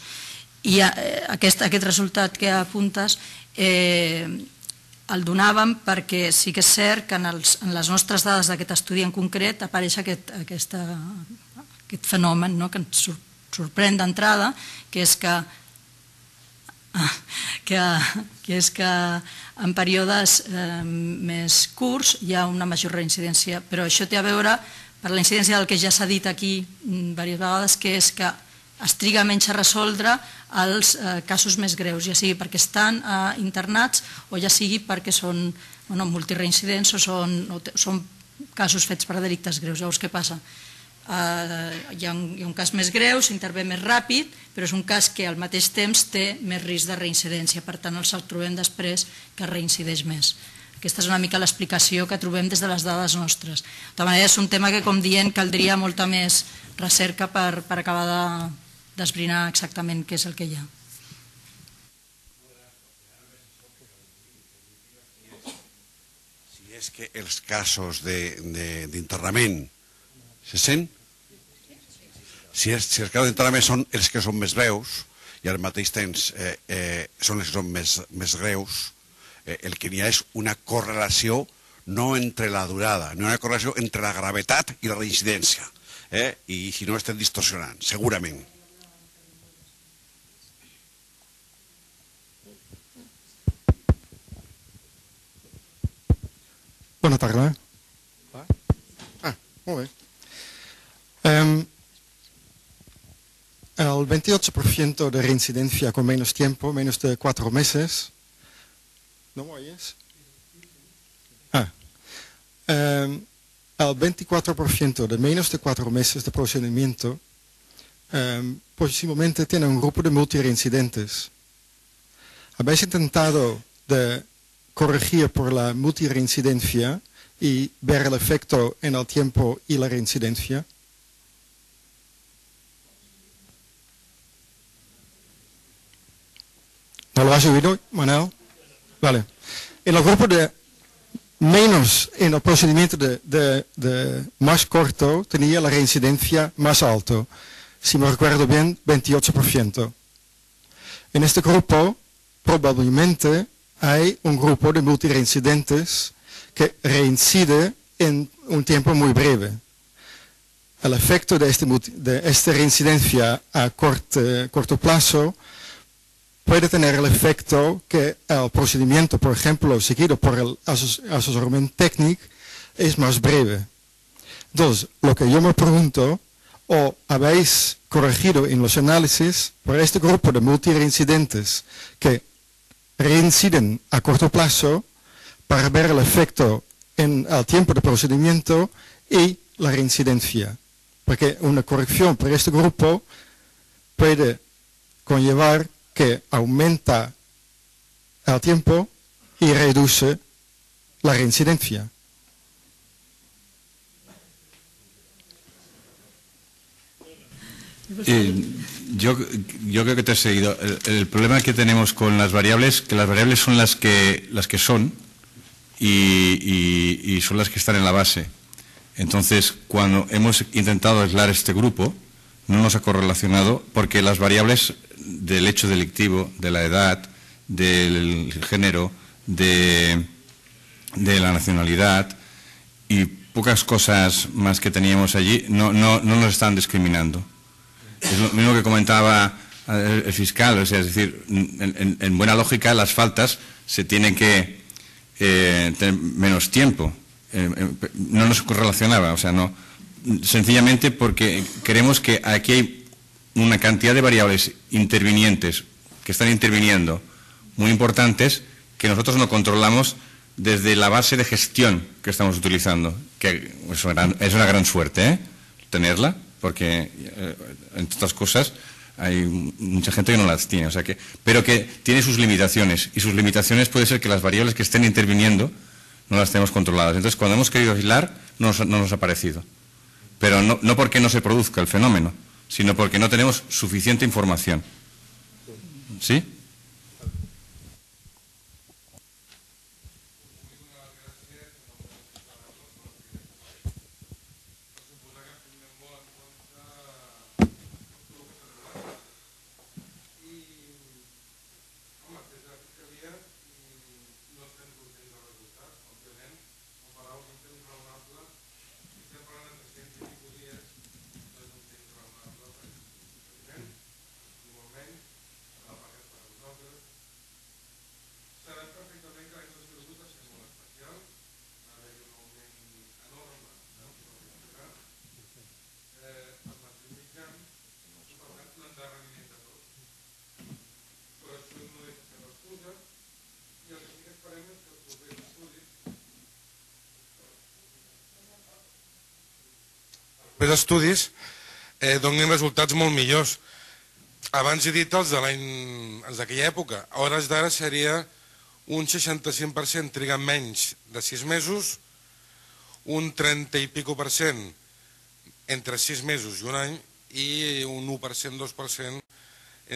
I aquest resultat que apuntes el donàvem perquè sí que és cert que en les nostres dades d'aquest estudi en concret apareix aquest fenomen que ens sorprèn d'entrada, que és que en períodes més curts hi ha una major reincidència, però això té a veure per la incidència del que ja s'ha dit aquí diverses vegades, que és que es triga menys a resoldre els casos més greus, ja sigui perquè estan internats o ja sigui perquè són multireincidents o són casos fets per delictes greus. Llavors, què passa? Hi ha un cas més greu, s'intervé més ràpid, però és un cas que al mateix temps té més risc de reincidència, per tant els trobem després que reincideix més. Aquesta és una mica l'explicació que trobem des de les dades nostres. De tota manera, és un tema que, com dient, caldria molta més recerca per acabar d'esbrinar exactament què és el que hi ha. Si és que els casos d'internament se sent? Si els casos d'internament són els que són més greus i al mateix temps són els que són més greus, el que n'hi ha és una correlació no entre la durada, no una correlació entre la gravetat i la reincidència. I si no estem distorsionant, segurament. Bona tarda. Molt bé. El 28% de reincidencia con menos tiempo, menos de 4 meses. ¿No me oyes? El 24% de menos de 4 meses de procedimiento posiblemente tiene un grupo de multireincidentes. ¿Habéis intentado de corregir por la multireincidencia y ver el efecto en el tiempo y la reincidencia? ¿No lo has oído, Manel? Vale. En el grupo de menos, en el procedimiento de más corto, tenía la reincidencia más alto. Si me recuerdo bien, 28%. En este grupo, probablemente, hay un grupo de multireincidentes que reincide en un tiempo muy breve. El efecto de esta reincidencia a corto plazo puede tener el efecto que el procedimiento, por ejemplo, seguido por el asesoramiento técnico, es más breve. Entonces, lo que yo me pregunto, ¿o habéis corregido en los análisis por este grupo de multireincidentes que reinciden a corto plazo para ver el efecto en el tiempo de procedimiento y la reincidencia? Porque una corrección por este grupo puede conllevar que aumenta el tiempo y reduce la reincidencia. Yo creo que te he seguido. El problema que tenemos con las variables, que las variables son las que son y son las que están en la base. Entonces, cuando hemos intentado aislar este grupo, no nos ha correlacionado porque las variables del hecho delictivo, de la edad, del género, de la nacionalidad y pocas cosas más que teníamos allí, no nos están discriminando. Es lo mismo que comentaba el fiscal, o sea, es decir, en buena lógica las faltas se tienen que tener menos tiempo, no nos correlacionaba, o sea, no, sencillamente porque creemos que aquí hay una cantidad de variables intervinientes que están interviniendo muy importantes que nosotros no controlamos desde la base de gestión que estamos utilizando, que es una gran suerte tenerla, porque entre otras cosas hay mucha gente que no las tiene, o sea pero que tiene sus limitaciones, y sus limitaciones puede ser que las variables que estén interviniendo no las tenemos controladas. Entonces, cuando hemos querido aislar, no nos ha parecido. Pero no porque no se produzca el fenómeno, sino porque no tenemos suficiente información. ¿Sí? Els estudis donin resultats molt millors. Abans he dit els d'aquella època. A hores d'ara seria un 65% trigant menys de 6 mesos, un 30 i pico % entre 6 mesos i un any, i un 1%, 2%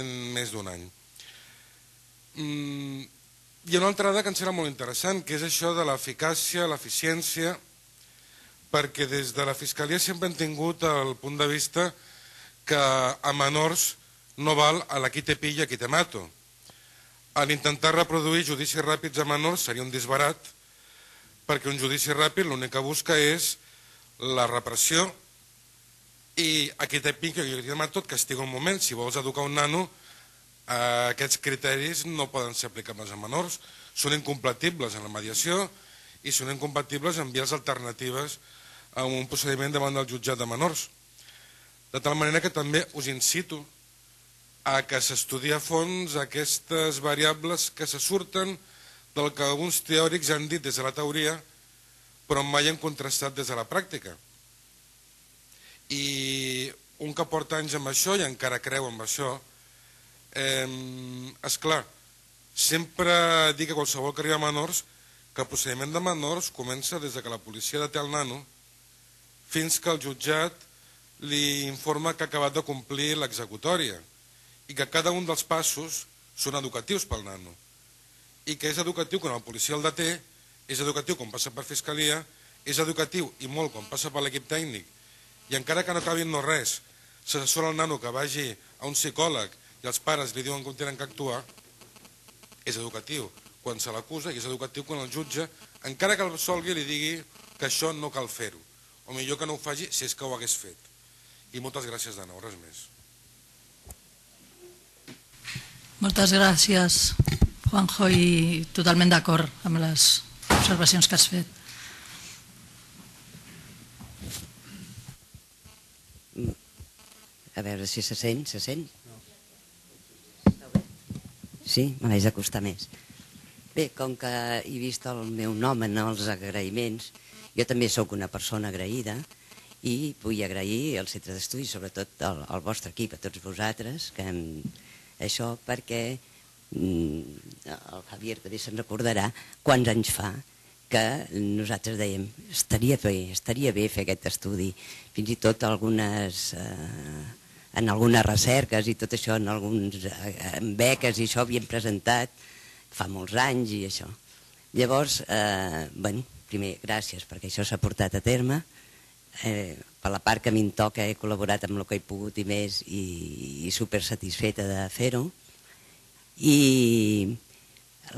en més d'un any. Hi ha una altra dada que em sembla molt interessant, que és això de l'eficàcia, l'eficiència, perquè des de la Fiscalia sempre hem tingut el punt de vista que a menors no val a la qui te pilla, qui te mato. A l'intentar reproduir judicis ràpids a menors seria un disbarat, perquè un judici ràpid l'únic que busca és la repressió i a qui te pilla, qui te mato, et castiga un moment. Si vols educar un nano, aquests criteris no poden ser aplicables a menors, són incompatibles en la mediació i són incompatibles en vies alternatives a un procediment davant del jutjat de menors. De tal manera que també us incito a que s'estudi a fons aquestes variables que se surten del que alguns teòrics han dit des de la teoria, però mai han contrastat des de la pràctica. I un que porta anys amb això i encara creu amb això, esclar, sempre dic a qualsevol que arriba a menors que el procediment de menors comença des que la policia deté el nano fins que el jutjat li informa que ha acabat de complir l'executòria i que cada un dels passos són educatius pel nano i que és educatiu quan el policia el deté, és educatiu quan passa per Fiscalia, és educatiu i molt quan passa per l'equip tècnic, i encara que no acabin no res, s'assessora el nano que vagi a un psicòleg i els pares li diuen com tenen que actuar, és educatiu quan se l'acusa i és educatiu quan el jutge, encara que el absolgui, li digui que això no cal fer-ho, o millor que no ho faci si és que ho hagués fet. I moltes gràcies de nou, res més. Moltes gràcies, Juanjo, i totalment d'acord amb les observacions que has fet. A veure si se sent, se sent? Sí, me l'haig d'acostar més. Bé, com que he vist el meu nom en els agraïments, jo també sóc una persona agraïda i vull agrair al Centre d'Estudis, sobretot al vostre equip, a tots vosaltres, això perquè el Javier també se'n recordarà quants anys fa que nosaltres dèiem estaria bé fer aquest estudi, fins i tot en algunes recerques i tot això, en beques i això havíem presentat fa molts anys i això. Llavors, primer, gràcies perquè això s'ha portat a terme. Per la part que a mi em toca he col·laborat amb el que he pogut i més i super satisfeta de fer-ho. I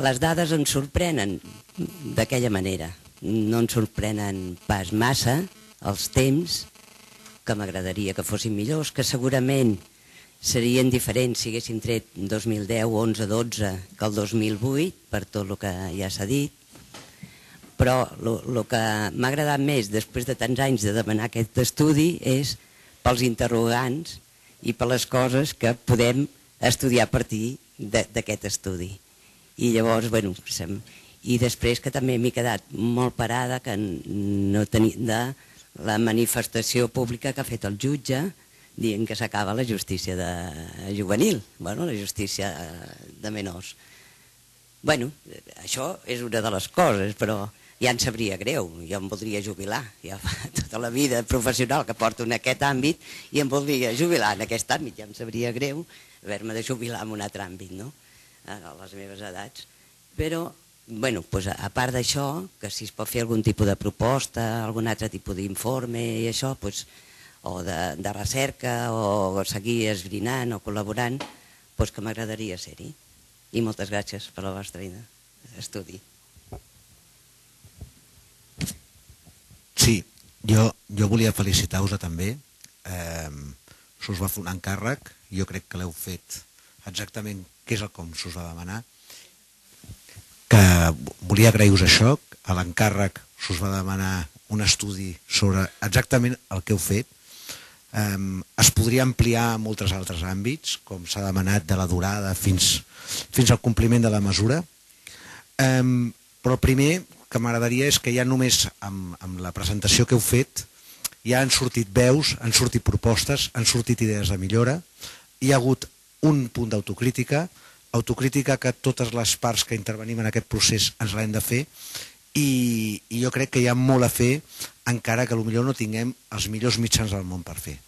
les dades ens sorprenen d'aquella manera. No ens sorprenen pas massa els temps, que m'agradaria que fossin millors, que segurament serien diferents si haguéssim tret 2010, 11, 12 que el 2008, per tot el que ja s'ha dit, però el que m'ha agradat més després de tants anys de demanar aquest estudi és pels interrogants i per les coses que podem estudiar a partir d'aquest estudi. I llavors, bueno, i després que també m'he quedat molt parada que no tenia de la manifestació pública que ha fet el jutge dient que s'acaba la justícia juvenil, bueno, la justícia de menors. Bueno, això és una de les coses, però ja em sabria greu, jo em voldria jubilar, ja fa tota la vida professional que porto en aquest àmbit i em voldria jubilar en aquest àmbit, ja em sabria greu haver-me de jubilar en un altre àmbit, no?, a les meves edats. Però, bueno, a part d'això, que si es pot fer algun tipus de proposta, algun altre tipus d'informe i això, o de recerca, o seguir esbrinant o col·laborant, que m'agradaria ser-hi. I moltes gràcies per la vostra estudi. Sí, jo volia felicitar-vos també. S'us va fer un encàrrec, jo crec que l'heu fet exactament què és el com s'us va demanar. Que volia agrair-vos això, a l'encàrrec s'us va demanar un estudi sobre exactament el que heu fet. Es podria ampliar a molts altres àmbits, com s'ha demanat de la durada fins al compliment de la mesura. Però el primer que m'agradaria és que ja només amb la presentació que heu fet ja han sortit veus, han sortit propostes, han sortit idees de millora, hi ha hagut un punt d'autocrítica, autocrítica que totes les parts que intervenim en aquest procés ens l'hem de fer, i jo crec que hi ha molt a fer encara que potser no tinguem els millors mitjans del món per fer.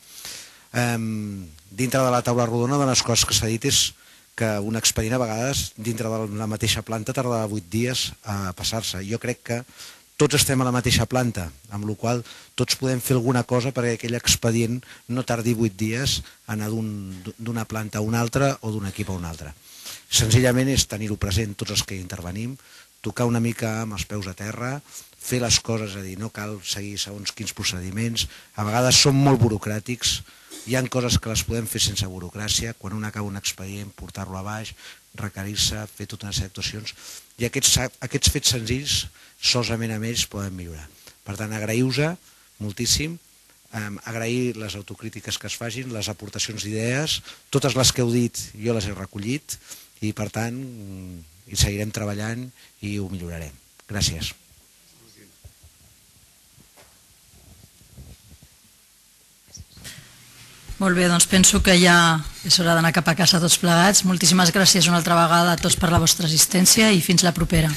Dintre de la taula rodona, de les coses que s'ha dit és que un expedient a vegades dintre de la mateixa planta tardava 8 dies a passar-se. Jo crec que tots estem a la mateixa planta, amb la qual tots podem fer alguna cosa perquè aquell expedient no tardi 8 dies a anar d'una planta a una altra o d'un equip a un altre. Senzillament és tenir-ho present tots els que hi intervenim, tocar una mica amb els peus a terra, fer les coses, és a dir, no cal seguir segons quins procediments, a vegades són molt burocràtics, hi ha coses que les podem fer sense burocràcia, quan un acaba un expedient, portar-lo a baix, requerir-se, fer tota una sèrie d'actuacions, i aquests fets senzills, solament amb ells poden millorar. Per tant, agraïu-vos moltíssim, agrair les autocrítiques que es facin, les aportacions d'idees, totes les que heu dit jo les he recollit, i per tant hi seguirem treballant i ho millorarem. Gràcies. Molt bé, doncs penso que ja és hora d'anar cap a casa tots plegats. Moltíssimes gràcies una altra vegada a tots per la vostra assistència i fins la propera.